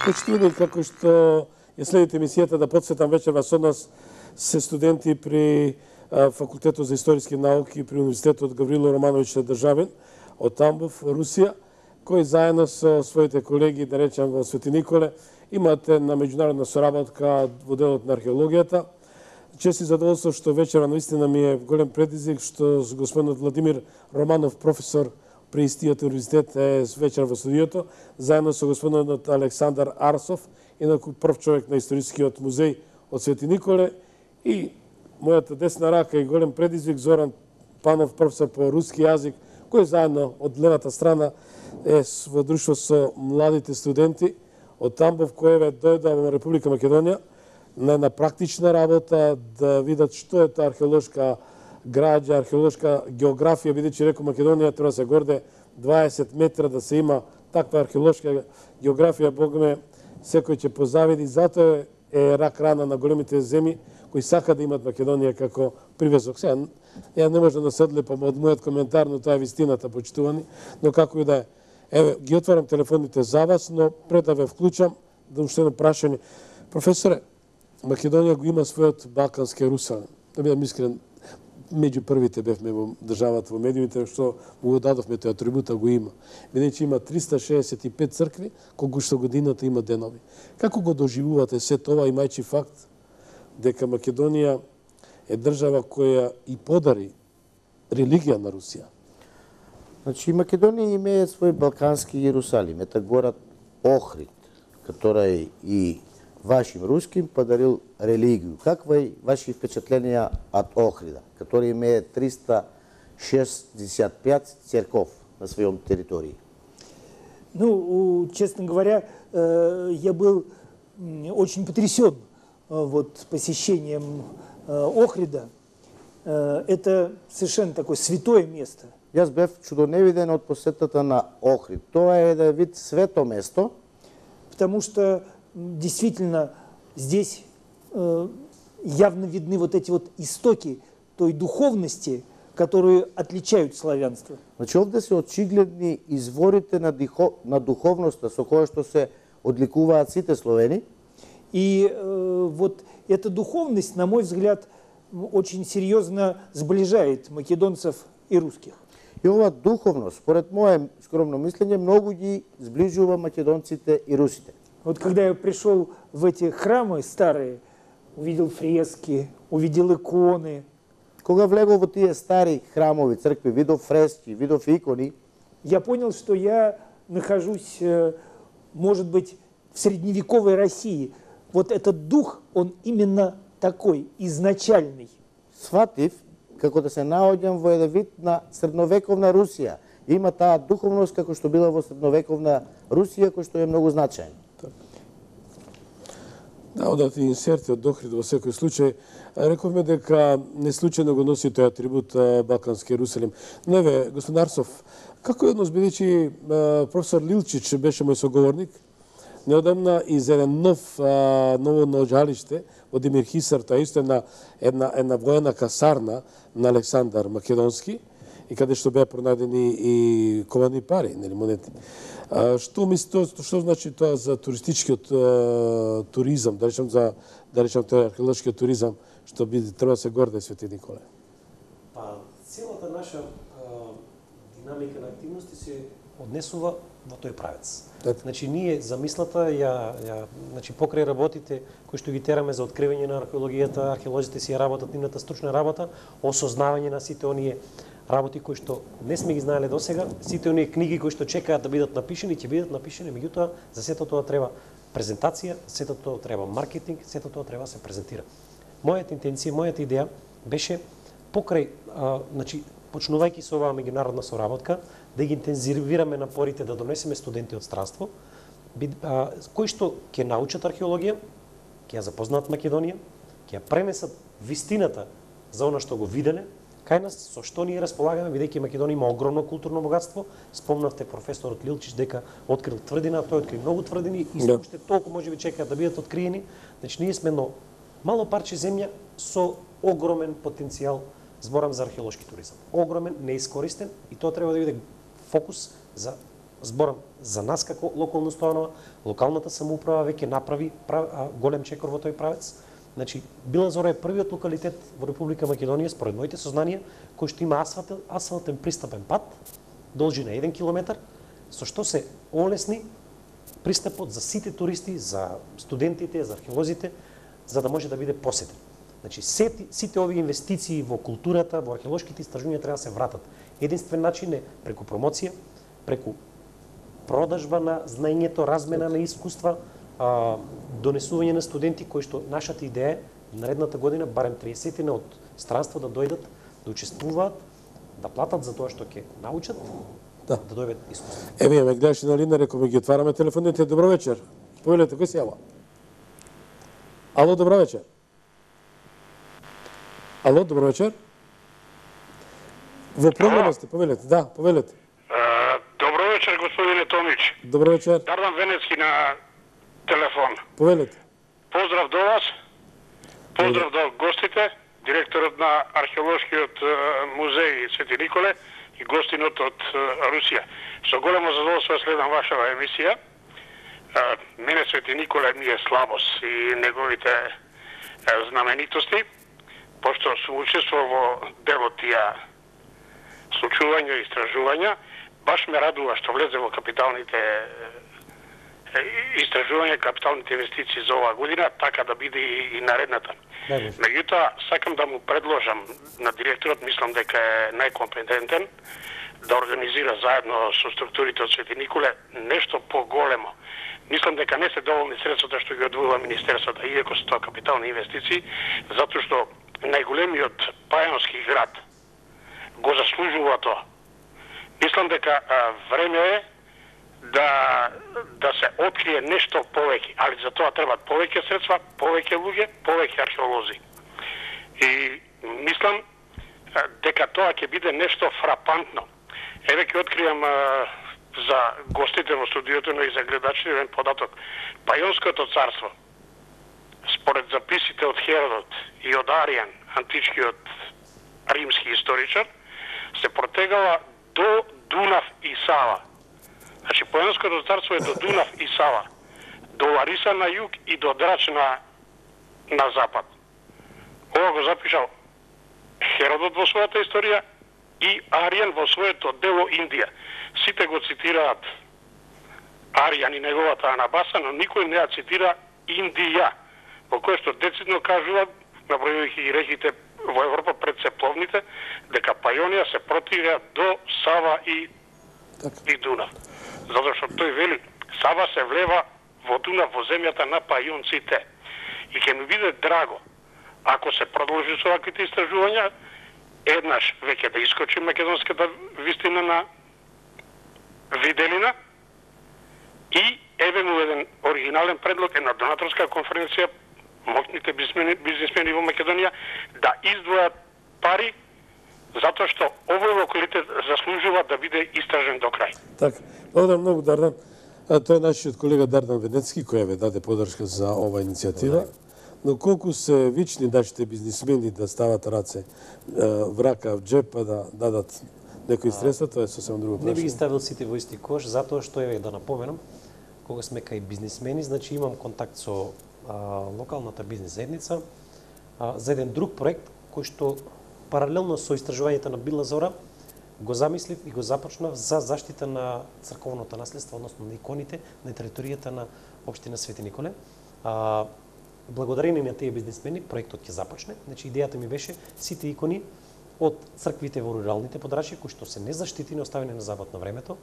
Почитувани, како што ја следите емисијата да подсетам вечерва со нас се студенти при Факултетот за историски науки при Универзитетот Гаврило Романовиќ Државин од Тамбов, Русија, кои заедно со своите колеги, да речем во Свети Николе, имате на меѓународна соработка во делот на археологијата. Чест и задоволство што вечера наистина ми е голем предизвик што господинот Владимир Романов, професор при истиот универзитет, е вечер во студиото, заедно со господинот Александар Арсов, инаку прв човек на историскиот музеј од Свети Николе, и мојата десна рака и голем предизвик Зоран Панов, професор по руски јазик, кој заедно од левата страна е во друштво со младите студенти од Тамбов, кој е дојда во Република Македонија на една практична работа да видат што е таа археолошка граѓа, археолошка географија, бидејќи рекол Македонија треба да се горде дваесет метра да се има таква археолошка географија, богме секој ќе позавиди, затоа е рак рана на големите земји кои сака да имат Македонија како привезок. Сега, ја не може да се одлепам од мојот коментар, но тоа е вистината, почитувани, но како и да е. Еве, ги отварам телефоните за вас, но пред да ве вклучам, да уште едно прашање. Професоре, Македонија го има својот балкански Русалем. Да бидам искрен, меѓу првите бевме во државата, во медиумите, што му го дадовме тој атрибута, го има. Бидејќи има триста шеесет и пет цркви, колку што годината има денови. Како го доживувате се тоа, имајќи факт дека Македонија е држава која и подари религија на Русија?
Значи, Македонија имее свој балкански Иерусалим, это город Охрид, который и вашим руским подарил религию. Какви ваши впечатления от Охрида, который имеет триста шестьдесят пять церков на своем территории?
Ну, честно говоря, я был очень потрясен вот посещением Охрида. Это совершенно такое святое место.
Јас бев чудоневиден од посетата на Охрид. Тоа е еден вид свето место.
Потому что действительно здесь э, явно видны вот эти вот истоки той духовности, которые отличают славянство.
Значи овде се очигледни изворите на, дихо, на духовноста со која што се одликуваат сите словени.
И э, вот эта духовность, на мой взгляд, очень серьезно сближает македонцев и русских.
И ова духовност, според мое скромно мислење, многу ги сближува македонците и русите.
Вот когда я пришел в эти храмы старые, увидел фрески, увидел иконы.
Кога влегол во тие стари храмови, цркви, видов фрески, видов икони,
я понял, что я нахожусь, может быть, в средневековой России. Вот этот дух, он именно такой, изначальный.
Сватив, како да се наоѓам во еден вид на средновековна Русија. Има таа духовност како што била во средновековна Русија, кој што е многу значајна.
Да, одат и инсерти од Охрид во секој случај. Рековме дека не случајно го носи тој атрибут Балкански Јерусалим. Но еве, господин Арсов, како е однос, бидејќи професор Лилчич беше мој соговорник, неодамна из еден нов ново наоѓалиште во Демир Хисар, тоа исто една една една воена касарна на Александар Македонски, и каде што беа пронајдени и ковани пари, нели, монети. А, што мислите, што значи тоа за туристичкиот а, туризам, да речем за да речем тој археолошкиот туризам, што би треба да се горде Свети Николе?
Па целата наша а, динамика на активности се однесува во тој правец.
Так.
Значи ние замислата ја ја значи покрај работите кои што ги тераме за откривање на археологијата, археолозите си ја работат нивната стручна работа, осознавање на сите оние работи кои што не сме ги знаеле досега, сите оние книги кои што чекаат да бидат напишани, ќе бидат напишани, меѓутоа за сето тоа треба презентација, сето тоа треба маркетинг, сето тоа треба да се презентира. Мојата интенција, мојата идеја беше покрај а, значи почнувајќи со оваа меѓународна соработка, да ги интензивираме напорите да донесеме студенти од странство, а, кои што ќе научат археологија, ќе ја запознаат Македонија, ќе ја пренесат вистината за она што го виделе, кај нас со што ние располагаме, бидејќи Македонија има огромно културно богатство. Спомнавте професорот Лилчич дека открил тврдина, тој откри многу тврдини и
да.
уште толку можеби чекаат да бидат откриени. Значи ние сме едно мало парче земја со огромен потенцијал. Зборам за археолошки туризам. Огромен, неискористен, и тоа треба да биде фокус за зборам за нас како локална установа. Локалната самоуправа веќе направи прав, а, голем чекор во тој правец. Значи, Била Зора е првиот локалитет во Република Македонија, според моите сознанија, кој што има асфалтен, асфалтен пристапен пат, должина еден километар, со што се олесни пристапот за сите туристи, за студентите, за археолозите, за да може да биде посетен. Значи, сите, сите овие инвестиции во културата, во археолошките истражувања треба да се вратат. Единствен начин е преку промоција, преку продажба на знаењето, размена на искуства, а, донесување на студенти кои што нашата идеја е наредната година барем триесетина од странство да дојдат, да учествуваат, да платат за тоа што ќе научат,
да,
да дојдат искуство.
Еве, ме гледаше на линија, рековме ги отвараме телефоните. Добро вечер. Повелете, кој се јава? Ало, добро вечер. Ало, добро вечер. Во програма сте, повелете. Да, повелете.
Добро вечер, господине Томич.
Добро вечер.
Дардан Венецки на телефон.
Повелете.
Поздрав до вас. Поздрав до гостите, директорот на археолошкиот музеј Свети Николе и гостинот од Русија. Со големо задоволство следам вашава емисија. Мене Свети Николе ми е слабост и неговите знаменитости. пошто сум учествувал во дел од тие случувања и истражувања, баш ме радува што влезе во капиталните истражувања, капиталните инвестиции за оваа година, така да биде и, и наредната. Меѓутоа, сакам да му предложам на директорот, мислам дека е најкомпетентен, да организира заедно со структурите од Свети Николе нешто поголемо. Мислам дека не се доволни средствата што ги одвојува Министерството, иако се тоа капитални инвестиции, затоа што најголемиот пајонски град го заслужува тоа. Мислам дека а, време е да да се открие нешто повеќе, али за тоа требаат повеќе средства, повеќе луѓе, повеќе археолози. И мислам а, дека тоа ќе биде нешто фрапантно. Еве ќе откријам а, за гостите во студиото, но и за гледачите еден податок. Пајонското царство, според записите од Херодот и од Аријан, античкиот римски историчар, се протегала до Дунав и Сава. Значи, Пајонското царство е до Дунав и Сава, до Лариса на југ и до Драч на, на запад. Ова го запишал Херодот во својата историја и Аријан во своето дело Индија. Сите го цитираат Аријан и неговата Анабаса, но никој не ја цитира Индија, во кој што децидно кажуваат, набројувајќи и реките во Европа пред сепловните, дека Пајонија се протига до Сава и, и Дунав. Затоа што тој вели, Сава се влева во Дунав, во земјата на пајонците. И ќе ми биде драго, ако се продолжи со ваквите истражувања, еднаш веќе да искочи македонската вистина на виделина и еве му еден оригинален предлог, една донаторска конференција, моќните бизнесмени, бизнесмени во Македонија да издвојат пари затоа што овој локалитет заслужува да биде истражен до крај.
Така, благодарам многу, Дардан. А, тоа е нашиот колега Дардан Венецки кој ве даде подршка за оваа иницијатива. Но колку се вични нашите бизнесмени да стават раце врака в джеп, па да дадат некои средства, тоа е сосем друго прашање.
Не би ги ставил сите во исти кош, затоа што еве да напоменам, кога сме кај бизнесмени, значи имам контакт со а, локалната бизнес заедница а, за еден друг проект кој што паралелно со истражувањето на Била Зора го замислив и го започнав за заштита на црковното наследство, односно на иконите на територијата на општина Свети Николе. А, благодарение на тие бизнесмени проектот ќе започне. Значи идејата ми беше сите икони од црквите во руралните подрачја кои што се незаштитени, оставени на забот на времето,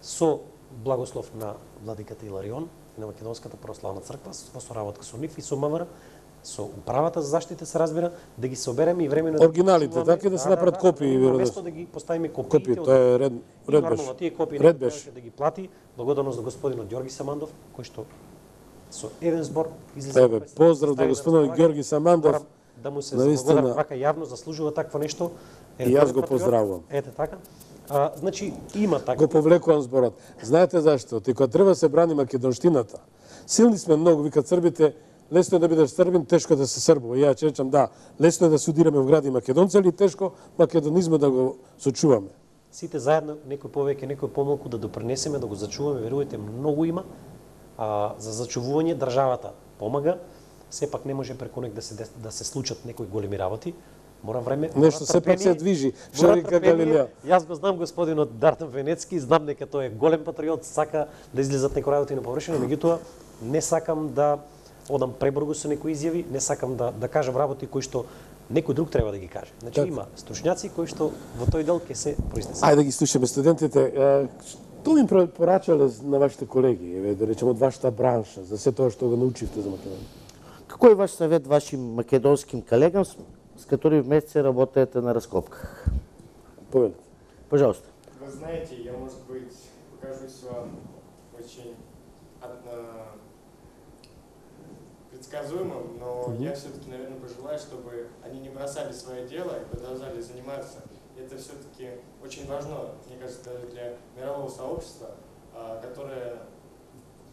со благослов на владиката Иларион и на Македонската православна црква, во соработка со нив и со МВР, со управата за заштита се разбира, да ги собереме и времено
оригиналите, така да се направат копии,
вместо да ги поставиме копиите.
Копии, тоа е ред, ред беше.
Нормално тие копии
ред
беше да ги плати, благодарност на господинот Ѓорги Самандов, кој што со еден збор излезе.
Еве, поздрав до господинот Ѓорги Самандов.
Да му се благодарам вака јавно, заслужува такво нешто.
И јас го поздравувам.
Ете така. А, значи има така.
Го повлекувам зборот. Знаете зашто? Ти кога треба се брани македонштината, силни сме многу, викат србите, лесно е да бидеш србин, тешко да се србува. Ја ќе речам да, лесно е да судираме во гради македонци, али тешко македонизмот да го сочуваме.
Сите заедно, некој повеќе, некој помалку да допринесеме, да го зачуваме, верувате, многу има. А, за зачувување државата помага. Сепак не може преку нек да се да се случат некои големи работи. Мора време.
Нешто сепак се движи. Што река Галилео?
Јас го знам господинот Дардан Венецки, знам дека тој е голем патриот, сака да излезат некои работи на површина, меѓутоа не сакам да одам пребргу со некои изјави, не сакам да да кажам работи кои што некој друг треба да ги каже. Значи так. Има стручњаци кои што во тој дел ќе се произнесат.
Ајде да ги слушаме студентите. Што им порачале на вашите колеги, еве да речеме од вашата бранша, за се тоа што го научивте за Македонија?
Какой ваш совет вашим македонским колегам, с которыми вместе работаете на раскопках?
Повелите.
Пожалуйста.
Вы знаете, я, может быть, покажусь вам очень предсказуемым, но mm-hmm. я все-таки, наверное, пожелаю, чтобы они не бросали свое дело и продолжали заниматься. Это все-таки очень важно, мне кажется, даже для мирового сообщества, которое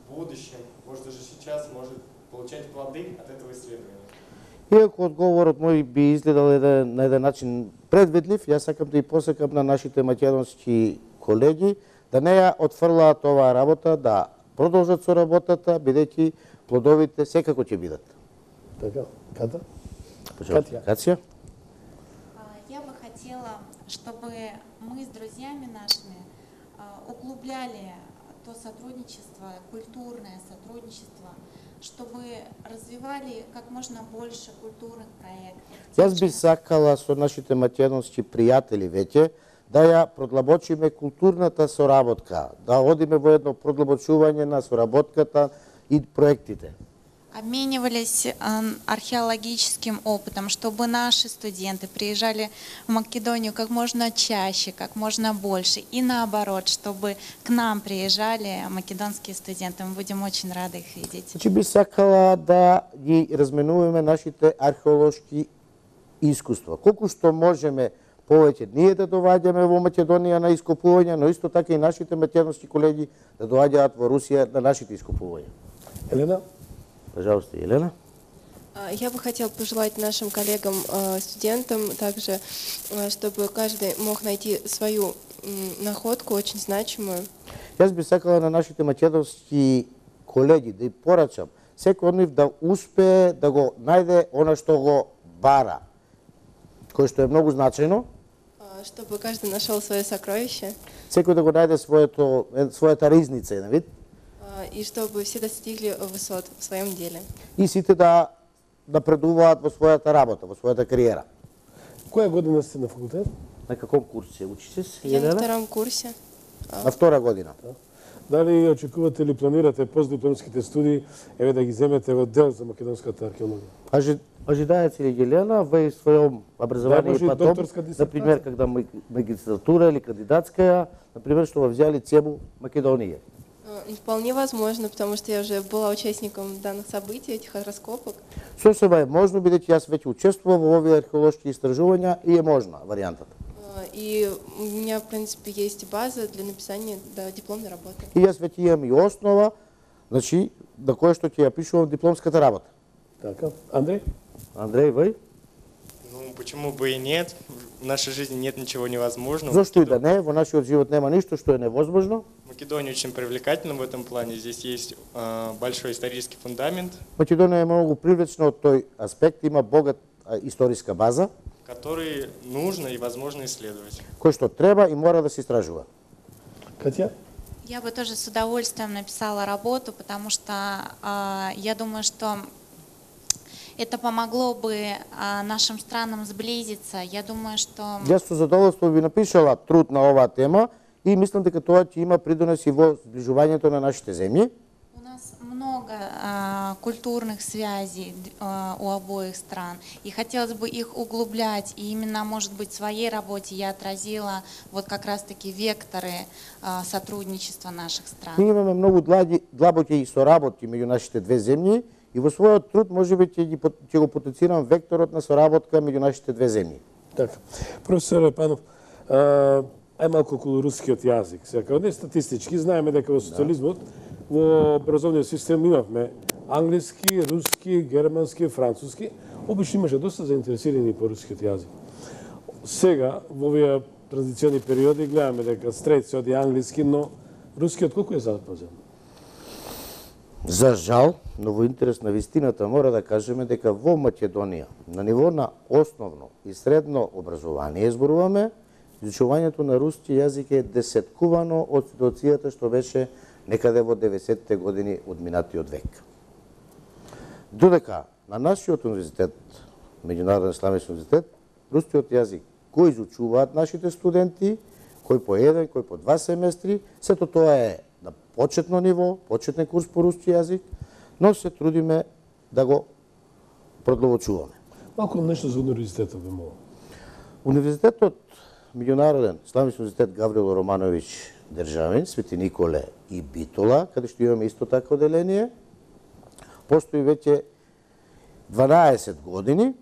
в будущем, может даже сейчас, может получать плоды от этого исследования.
Иако одговорот мој би изгледал еден, на еден начин предвидлив, јас сакам да и посакам на нашите македонски колеги да не ја отфрлаат оваа работа, да продолжат со работата, бидејќи плодовите секако ќе бидат.
Така, Ката?
Катја. Катја?
я бы хотела, чтобы мы с друзьями нашими углубляли то сотрудничество, культурное сотрудничество, чтобы развивали как можно больше културных проектов.
Јас би сакала со нашите македонски пријатели веќе да ја продлабочиме културната соработка, да одиме во едно продлабочување на соработката и проектите.
Обменивались э, археологическим опытом, чтобы наши студенты приезжали в Македонию как можно чаще, как можно больше. И наоборот, чтобы к нам приезжали македонские студенты. Мы будем очень рады их видеть.
Значи би сакала да ги разменуваме нашите археолошки искуства. Колку што можеме повеќе ние да доваѓаме во Македонија на ископувања, но исто така и нашите македонски колеги да доаѓаат во Русија на нашите ископувања.
Елена?
Пожалуйста, Елена.
Я бы хотела пожелать нашим коллегам, студентам также, чтобы каждый мог найти свою находку, очень значимую.
Јас би сакала на нашите македонски колеги да и порачам, секој од нив да успее да го најде она што го бара, кој што е многу значајно.
Чтобы каждый нашел свое сокровище.
Секој да го најде своето, својата ризница, на вид.
И чтобы все достигли высот в своем деле.
И сите да напредуваат во својата работа, во својата кариера.
Која година сте на факултет?
На каком курсе учите се?
Я на втором курсе.
На втора година.
Дали очекувате или планирате постдипломските студии еве да ги земете во дел за македонската археологија?
Ожи, ожидаете ли, Елена, во својом образовании
да,
потом, например, когда магистратура или кандидатская, например, что вы взяли тему Македонии?
Вполне возможно, потому что я уже была участником данных событий, этих раскопок.
Сосема е можно, бидејќи јас веќе учествував во овие археолошки истражувања и е можно варијантата.
И у меня, в принципе, есть база для написания да, дипломной работы.
И јас веќе имам и основа, значи, на кое што ќе ја пишувам дипломската работа.
Така, Андрей?
Андрей, вы?
Ну, почему бы и нет? В нашей жизни нет ничего невозможного.
Зашто и да не? Во нашиот живот нема ништо што е невозможно.
Македония очень привлекательна в этом плане. Здесь есть э, большой исторический фундамент.
Македонија е многу привлечна од тој аспект, има богат а, историска база,
который нужно и возможно исследовать.
Кој што треба и мора да се истражува.
Катя?
Я бы тоже с удовольствием написала работу, потому что э, я думаю, что это помогло бы э, нашим странам сблизиться. Я думаю, что...
Јас со задоволство би напишала труд на оваа тема и мислам дека тоа ќе има придонес и во сближувањето на нашите земји.
У нас много э, культурных связей э, у обоих стран, и хотелось бы их углублять, и именно, может быть, в своей работе я отразила вот как раз-таки векторы э, сотрудничества наших стран.
Ние имаме многу длабоки соработки меѓу нашите две земји и во својот труд можеби ќе ќе го потенцирам векторот на соработка меѓу нашите две земји.
Така. Професор Панов, ај малку околу рускиот јазик. Сега, не статистички, знаеме дека во социализмот во образовниот систем имавме англиски, руски, германски, француски. Обично имаше доста заинтересирани по рускиот јазик. Сега, во овие транзициони периоди, гледаме дека стрет се оди англиски, но рускиот колку е запазен?
За жал, но во интерес на вистината мора да кажеме дека во Македонија на ниво на основно и средно образование зборуваме, изучувањето на руски јазик е десеткувано од ситуацијата што беше некаде во деветдесеттите години од минатиот век. Додека на нашиот универзитет, Меѓународен исламски универзитет, рускиот јазик го изучуваат нашите студенти, кој по еден, кој по два семестри, сето тоа е на почетно ниво, почетен курс по руски јазик, но се трудиме да го продловочуваме.
Малку нешто за универзитетот би молил.
Универзитетот Меѓународен исламски универзитет Гаврило Романовиќ Државин, Свети Николе и Битола, каде што имаме исто така оделение, постои веќе дванаесет години,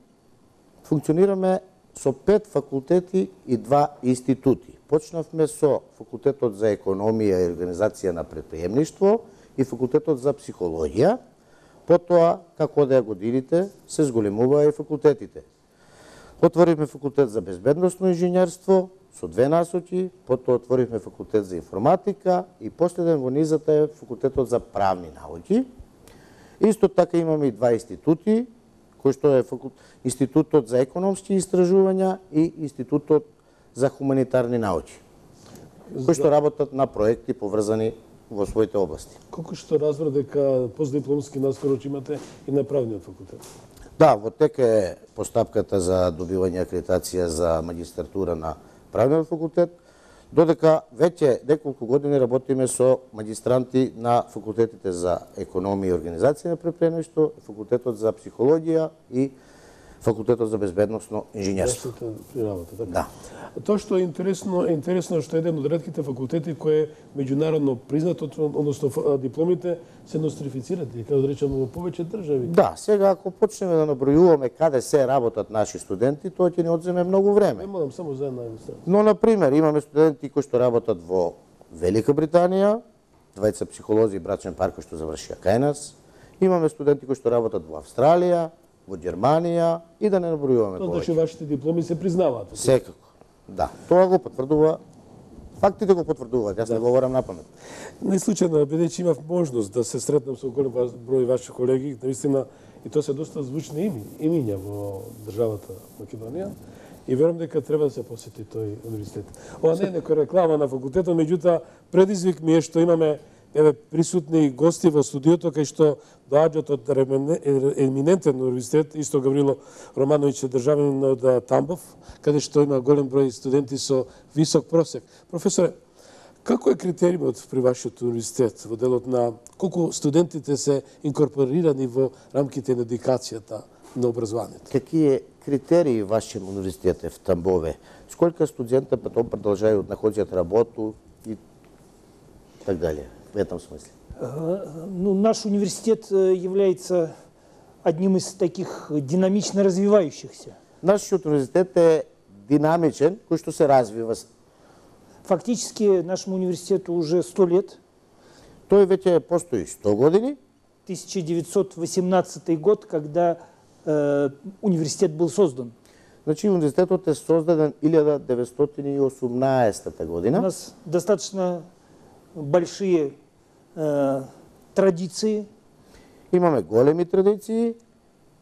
функционираме со пет факултети и два институти. Почнавме со факултетот за економија и организација на предприемништво и факултетот за психологија. Потоа, како одеа годините, се зголемуваа и факултетите. Отворивме факултет за безбедносно инженерство со две насоки, потоа отворивме факултет за информатика и последен во низата е факултетот за правни науки. Исто така имаме и два институти кој што е факул... Институтот за економски истражувања и Институтот за хуманитарни науки, кои што работат на проекти поврзани во своите области.
Колку што разбра дека постдипломски наскоро имате и на правниот факултет?
Да, во тека е постапката за добивање акредитација за магистратура на правниот факултет, додека веќе неколку години работиме со магистранти на факултетите за економија и организација на предприемништво, факултетот за психологија и факултетот за безбедносно инженерство.
Да. Тоа што е интересно, е интересно што еден од ретките факултети кој е меѓународно признат, односно дипломите се нострифицирани, како да речеме, во повеќе држави.
Да, сега ако почнеме да набројуваме каде се работат наши студенти, тоа ќе ни одземе многу време.
Не морам само за една илустрација.
Но на пример имаме студенти кои што работат во Велика Британија, двајца психолози и брачен пар кои што завршија кај нас. Имаме студенти кои што работат во Австралија, во Германија и да не набројуваме повеќе.
Тоа значи вашите дипломи се признаваат.
Секако. Да, тоа го потврдува, фактите го потврдуваат, јас да. Не говорам напамет.
Не случајно, бидејќи имав можност да се сретнам со голем број ваши колеги, наистина, и тоа се доста звучни ими, имиња во државата Македонија, и верувам дека треба да се посети тој универзитет. Ова не е некоја реклама на факултетот, меѓутоа предизвик ми е што имаме еве присутни гости во студиото кај што доаѓаат од еминентен универзитет, исто Гаврило Романовиќ е државјанин од Тамбов, каде што има голем број студенти со висок просек. Професоре, како е критериумот при вашиот универзитет во делот на колку студентите се инкорпорирани во рамките на едукацијата на образованието?
Какие критерии вашиот универзитет е в Тамбове? Сколько студента потом продолжают находят работу и так далее? В этом смысле?
Ну, наш университет является одним из таких динамично развивающихся.
Наш университет е динамичен, кој што се развива.
Фактически нашему университету уже сто лет.
Тој веќе постои сто години.
тысяча девятьсот восемнадцатый год, когда э, университет был создан.
Значи университетот е создаден илјада деветстотини и осумнаесета година.
У нас достаточно большие э, традиции.
Имаме големи традиции.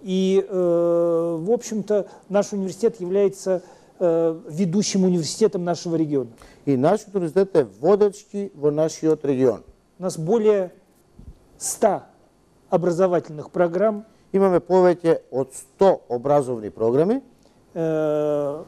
И, э, в общем-то, наш университет является э, ведущим университетом нашего региона.
И наш университет е водечки во нашиот регион.
У нас более ста образовательных программ.
Имаме повеќе од сто образовни програми.
Э,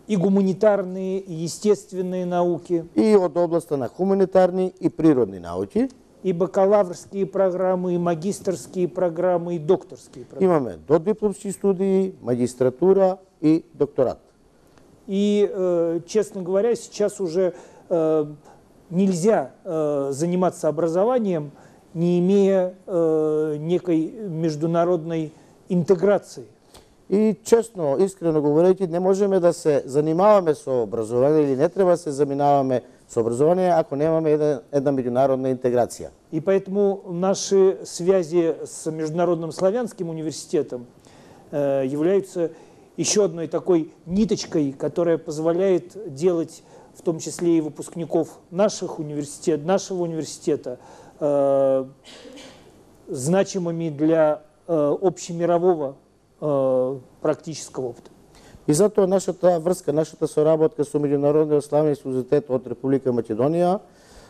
и гуманитарные, и естественные науки.
И од областа на хуманитарни и природни науки.
И бакалаврские программы, и магистерские программы, и докторские программы.
Имаме додипломски студии, магистратура и докторат.
И, э, честно говоря, сейчас уже э, нельзя э, заниматься образованием, не имея э, некой международной интеграции.
И честно, искрено говорејќи, не можеме да се занимаваме со образование или не треба да се занимаваме со образование, ако немаме една, една меѓународна интеграција.
И поэтому наши связи с Международным славянским университетом э, являются еще одной такой ниточкой, которая позволяет делать, в том числе и выпускников наших университет, нашего университета, э, значимыми для э, общемирового э, практического опыта.
И затоа нашата врска, нашата соработка со Меѓународниот славянски универзитет од Република Македонија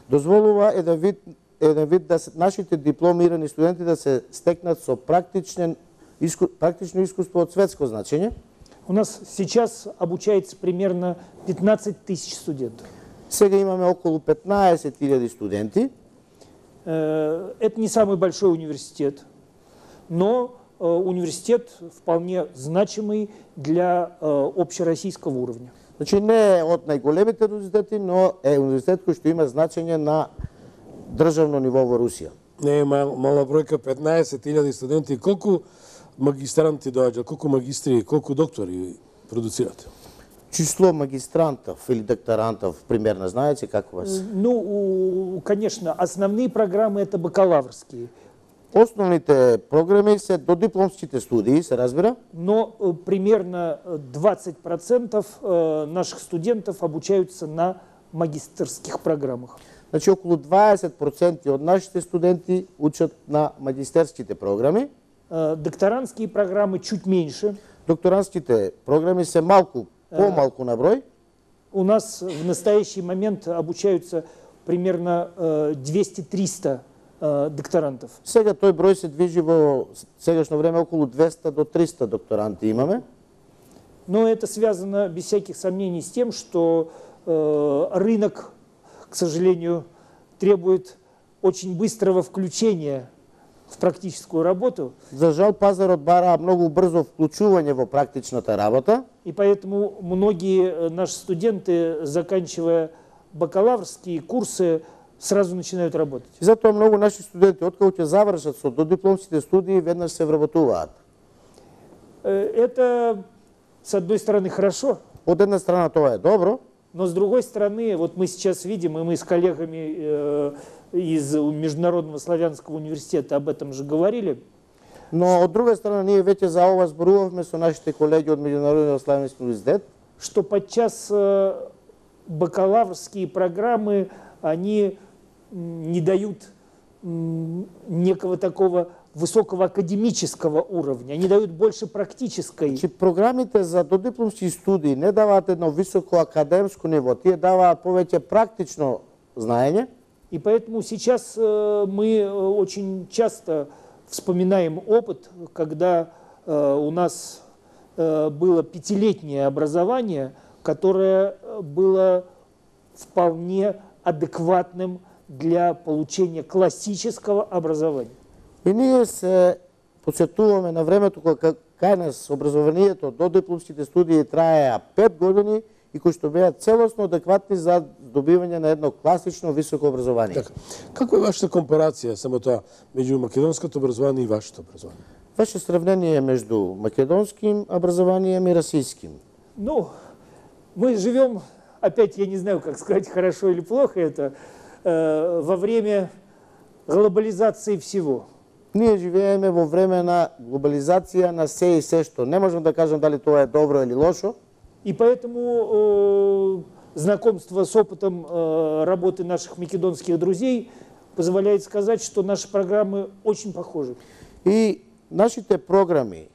дозволува еден вид, еден вид да се, нашите дипломирани студенти да се стекнат со практичен, иску, практично искуство од светско значење.
У нас сейчас обучается примерно петнадцать тысяч студентов.
Сега имаме околу петнаесет илјади студенти.
Это не самый большой университет, но университет вполне значимый для общероссийского уровня.
Значи не е од најголемите университети, но е университет кој што има значење на државно ниво во Русија.
Не е мал, мала бројка, петнаесет илјади студенти. Колку магистранти доаѓаат, колку магистри, колку доктори продуцирате?
Число магистрантов или докторантов примерно знаете, как у вас?
Ну, конечно, основные программы это бакалаврские.
Основните програми се додипломските студии, се разбира.
Но э, примерно двадцать процентов э, наших студентов обучаются на магистерских программах.
Значи околу дваесет проценти од нашите студенти учат на магистерските програми.
Докторантские программы чуть меньше.
Докторантските программы се малку, по-малку на број.
У нас в настоящий момент обучаются примерно двести-триста докторантов.
Сега тој број се движи во сегашно време околу двеста до триста докторанти имаме.
Но это связано без всяких сомнений с тем, что э, рынок, к сожалению, требует очень быстрого включения в практическую работу.
За жал пазарот бара многу брзо вклучување во практичната работа.
И поэтому многие наши студенты, заканчивая бакалаврские курсы, сразу начинают работать.
И затоа многу наши студенти откако ќе завршат со додипломските студии веднаш се вработуваат.
Это с одной стороны хорошо.
Од една страна тоа е добро.
Но с другой стороны, вот мы сейчас видим, и мы с коллегами э, из Международного славянского университета об этом же говорили.
Но од друга страна ние веќе за ова зборувавме со нашите колеги од Меѓународниот славянски университет,
что подчас э, бакалаврские программы, они не дают м, некого такого высокого академического уровня, они дают больше практической.
Че програмите за додипломски студии не даваат едно високо академско ниво, тие даваат повеќе практично знаење.
И поэтому сейчас э, мы очень часто вспоминаем опыт, когда э, у нас э, было пятилетнее образование, которое было вполне адекватным для получения классического образования.
И ние се подсетуваме на времето кога кај нас образованието до дипломските студии траеа пет години и кои што беа целосно адекватни за добивање на едно класично високо образование.
Така. Каква е вашата компарација само тоа меѓу македонското образование и вашето образование?
Ваше сравнение между македонским образованием и российским?
Ну, мы живем, опять я не знаю, как сказать, хорошо или плохо это, э, во время глобализации всего.
Ние живееме во време на глобализација на се и се што. Не можам да кажам дали тоа е добро или лошо.
И поэтому э, знакомство с опытом э, работы наших македонских друзей позволяет сказать, что наши программы очень похожи.
И нашите програми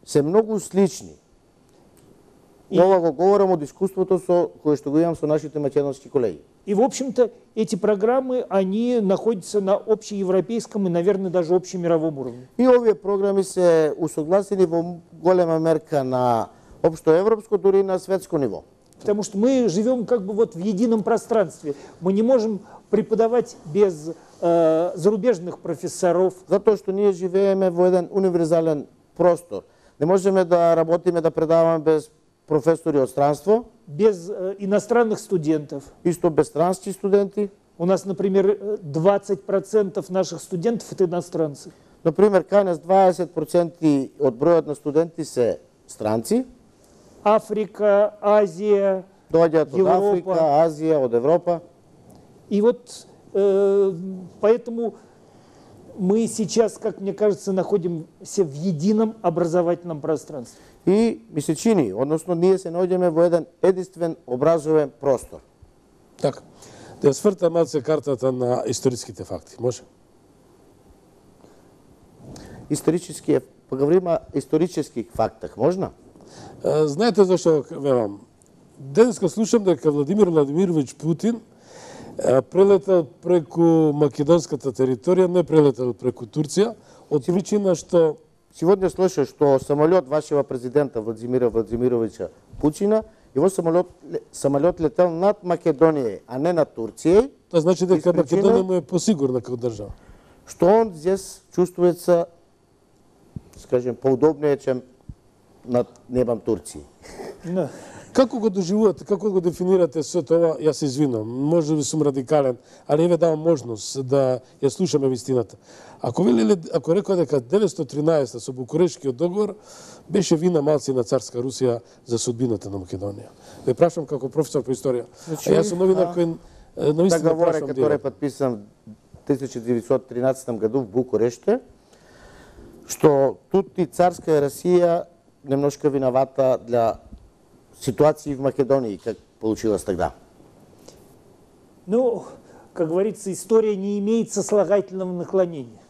се многу слични. И... Ова го говорам од искуството со кое што го имам со нашите македонски колеги.
И, в общем-то, эти программы, они находятся на общеевропейском и, наверное, даже общемировом уровне.
И овие програми се усогласени во голема мерка на общоевропско, дури и на светско ниво.
Потому что мы живем как бы вот в едином пространстве. Мы не можем преподавать без э, зарубежных профессоров.
Затоа што ние живееме во еден универзален простор. Не можеме да работиме, да предаваме без професори од странство.
Без э, иностранных студентов.
Исто без странски студенти.
У нас, например, двадцать процентов наших студентов это иностранцы.
Например, кај нас дваесет проценти од бројот на студенти се странци.
Африка, Азия,
доаѓаат од
Европа.
Африка, Азија, од Европа.
И вот э, поэтому мы сейчас, как мне кажется, находимся в едином образовательном пространстве.
И ми се чини, односно ние се наоѓаме во еден единствен образовен простор.
Така. Да ја сврта малце картата на историските факти, може?
Исторически, поговориме о исторических фактах, можно?
Знаете зашто велам? Денеска слушам дека Владимир Владимирович Путин прелетал преку македонската територија, не прелетал преку Турција, од причина што...
Сегодня слышу, что самолет вашего президента Владимира Владимировича Путина, его самолет, самолет летел над Македонией, а не над Турцией.
Това значи дека Македонија му е посигурна како држава.
Что он здесь чувствуется, скажем, поудобнее, чем над небом Турции.
No.
Како го доживувате, како го дефинирате се тоа, јас се извинувам, може би сум радикален, али еве давам можност да ја слушаме вистината. Ако велеле, ако рекоа дека деветстотини и тринаесета со Букурешкиот договор беше вина малци на царска Русија за судбината на Македонија. Ве прашам како професор по историја.
Значи,
а јас сум новинар кој наистина
договор
прашам
который подписан в тысяча девятьсот тринадцатом году в Букуреште, што тут и царска Русија немножко виновата для ситуации в Македонии, как получилось тогда?
Ну, как говорится, история не имеет сослагательного наклонения.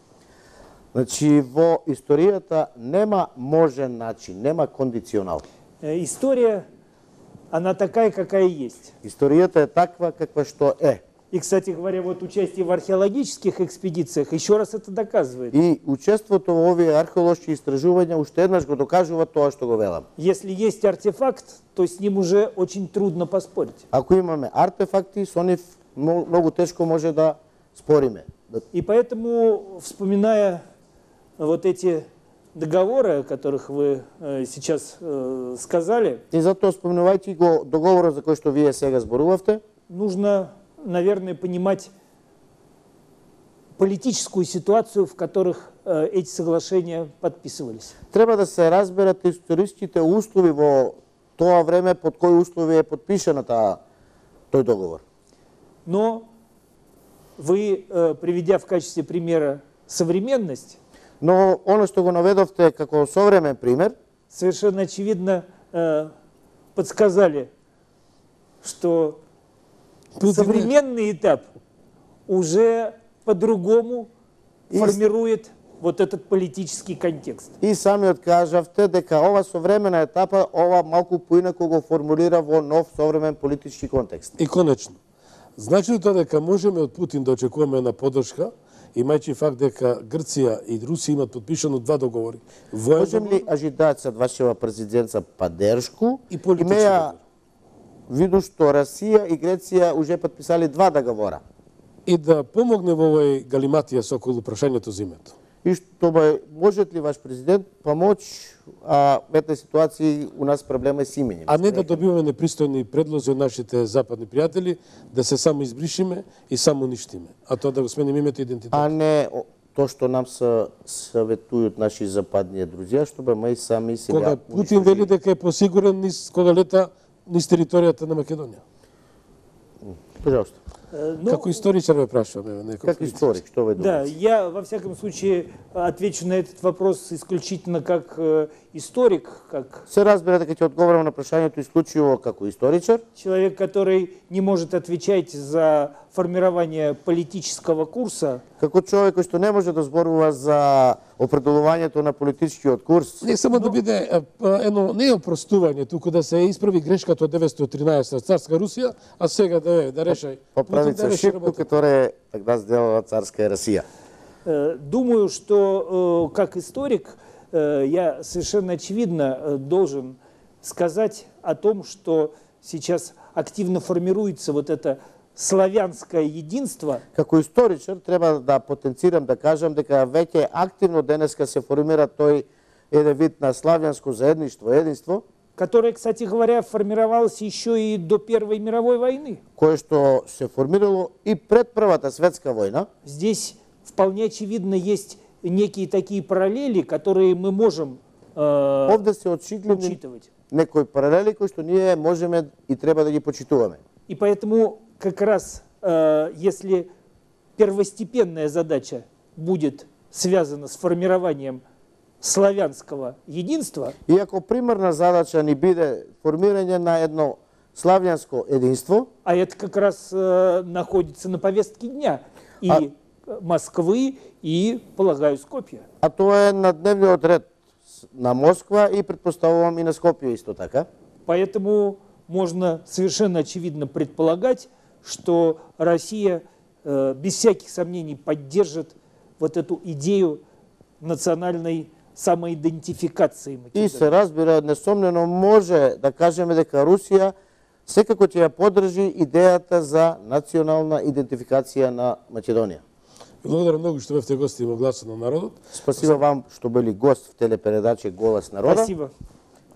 Значи, во историјата нема можен начин, нема кондиционал.
История, она такая, какая есть.
Историјата е таква каква што е.
И, кстати говоря, вот участие в археологических экспедициях еще раз это доказывает.
И учеството во овие археолошки истражувања уште еднаш го докажува тоа што го велам.
Если есть артефакт, то с ним уже очень трудно поспорить.
Ако имаме артефакти, со нив многу тешко може да спориме.
И поэтому, вспоминая вот эти договоры, о которых вы э, сейчас э, сказали,
и затоа спомнувајќи го договорот за кој што вие сега зборувавте,
нужно, наверное, понимать политическую ситуацию, в которых э, эти соглашения подписывались.
Треба да се разберат историските услови во тоа време под кои услови е подпишана таа тој договор.
Но вы, э, приведя в качестве примера современность,
но оно што го наведовте како современ пример,
совершенно очевидно э, подсказали, что Тут современный этап уже по-другому и формирует вот этот политический контекст.
И самиот кажавте дека ова современа етапа, ова малку поинаку го формулира во нов современ политички контекст.
И конечно, значи тоа дека можеме од Путин да очекуваме на поддршка, имајќи факт дека Грција и Русија имат подпишано два договори.
Можем ли ожидать од вашего президента поддршку?
И политички
договор? Виду што Русија и Грција уже подписали два договора.
И да помогне во овој галиматија со околу прашањето за името.
И што можат ли ваш президент помоќ а, в этой ситуации у нас проблема с именем?
А не да добиваме непристојни предлози од нашите западни пријатели, да се само избришиме и само уништиме. А тоа да го сменим името и идентитет.
А не то што нам се советујат наши западни друзија, што бе мы сами сега...
Кога Путин вели дека е посигурен низ кога лета низ територијата на Македонија.
Пожалуйста.
Ну,
Како историчар ме прашуваме.
Как историк, что вы думаете?
Да, я во всяком случае отвечу на этот вопрос исключительно как э, историк, как...
Се разбира дека ќе одговорам на прашањето исклучиво како историчар.
Человек, который не может отвечать за формирование политического курса.
Како човек кој што не може да зборува за определувањето на политичкиот курс.
Не само да биде едно не опростување, туку да се исправи грешката од деветстотини и тринаесетта царска Русија, а сега да да решај.
Поправица ошибку, которая тогда сделала царская Россия.
Думаю, что как историк я совершенно очевидно должен сказать о том, что сейчас активно формируется вот это славянское единство.
Како историчар треба да потенцирам да кажам дека веќе активно денеска се формира тој еден вид на славјанско заедништво, единство,
которое, кстати говоря, формировалось еще и до Первой мировой войны.
Кое што се формирало и пред Првата светска војна.
Здесь вполне очевидно есть некие такие параллели, которые мы можем э,
Овде се очигледни некои паралели кои што ние можеме и треба да ги почитуваме.
И поэтому как раз э, если первостепенная задача будет связана с формированием славянского единства.
И ако примерна задача ни биде формирање на едно славјанско единство,
а это как раз э, находится на повестке дня и а... Москвы и, полагаю, Скопје.
А тоа е на дневниот ред на Москва и предпоставувам и на Скопје исто така.
Поэтому можно совершенно очевидно предполагать, что Россия э, без всяких сомнений поддержит вот эту идею национальной самоидентификации Македонија.
И се разбира, несомнено може да кажеме дека Русија секако ќе ја поддржи идејата за национална идентификација на Македонија.
Благодарам многу што бевте гости во Гласот на народот.
Спасибо вам што били гост в телепередача Голос народа.
Спасибо.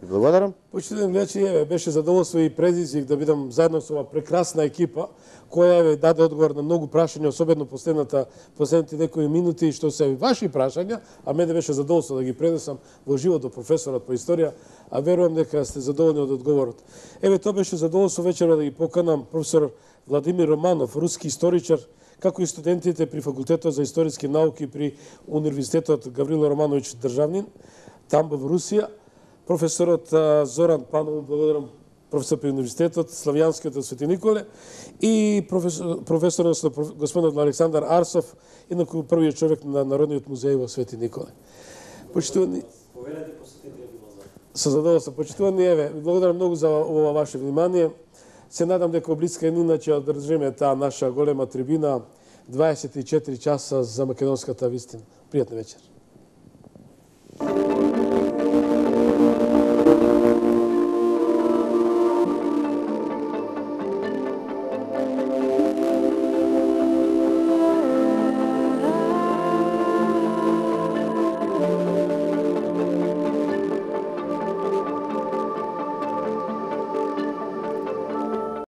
Благодарам.
Почитувани гледачи, еве беше задоволство и предизвик да бидам заедно со ова прекрасна екипа која еве даде одговор на многу прашања, особено последната последните некои минути што се ваши прашања, а мене беше задоволство да ги пренесам во живот до професорот по историја, а верувам дека сте задоволни од одговорот. Еве тоа беше задоволство вечера да ги поканам професор Владимир Романов, руски историчар, како и студентите при факултетот за историски науки при Универзитетот Гаврило Романовиќ Државнин, таму во Русија. Професорот Зоран Панов, благодарам професор при универзитетот, Славјанскиот од Свети Николе, и професор, професор господинот Александар Арсов, инаку првиот човек на Народниот музеј во Свети Николе. Почитувани... Со задоволство. Почитувани, еве, благодарам многу за ова ваше внимание. Се надам дека облицка е иначе одржиме таа наша голема трибина дваесет и четири часа за македонската вистина. Пријатна вечер.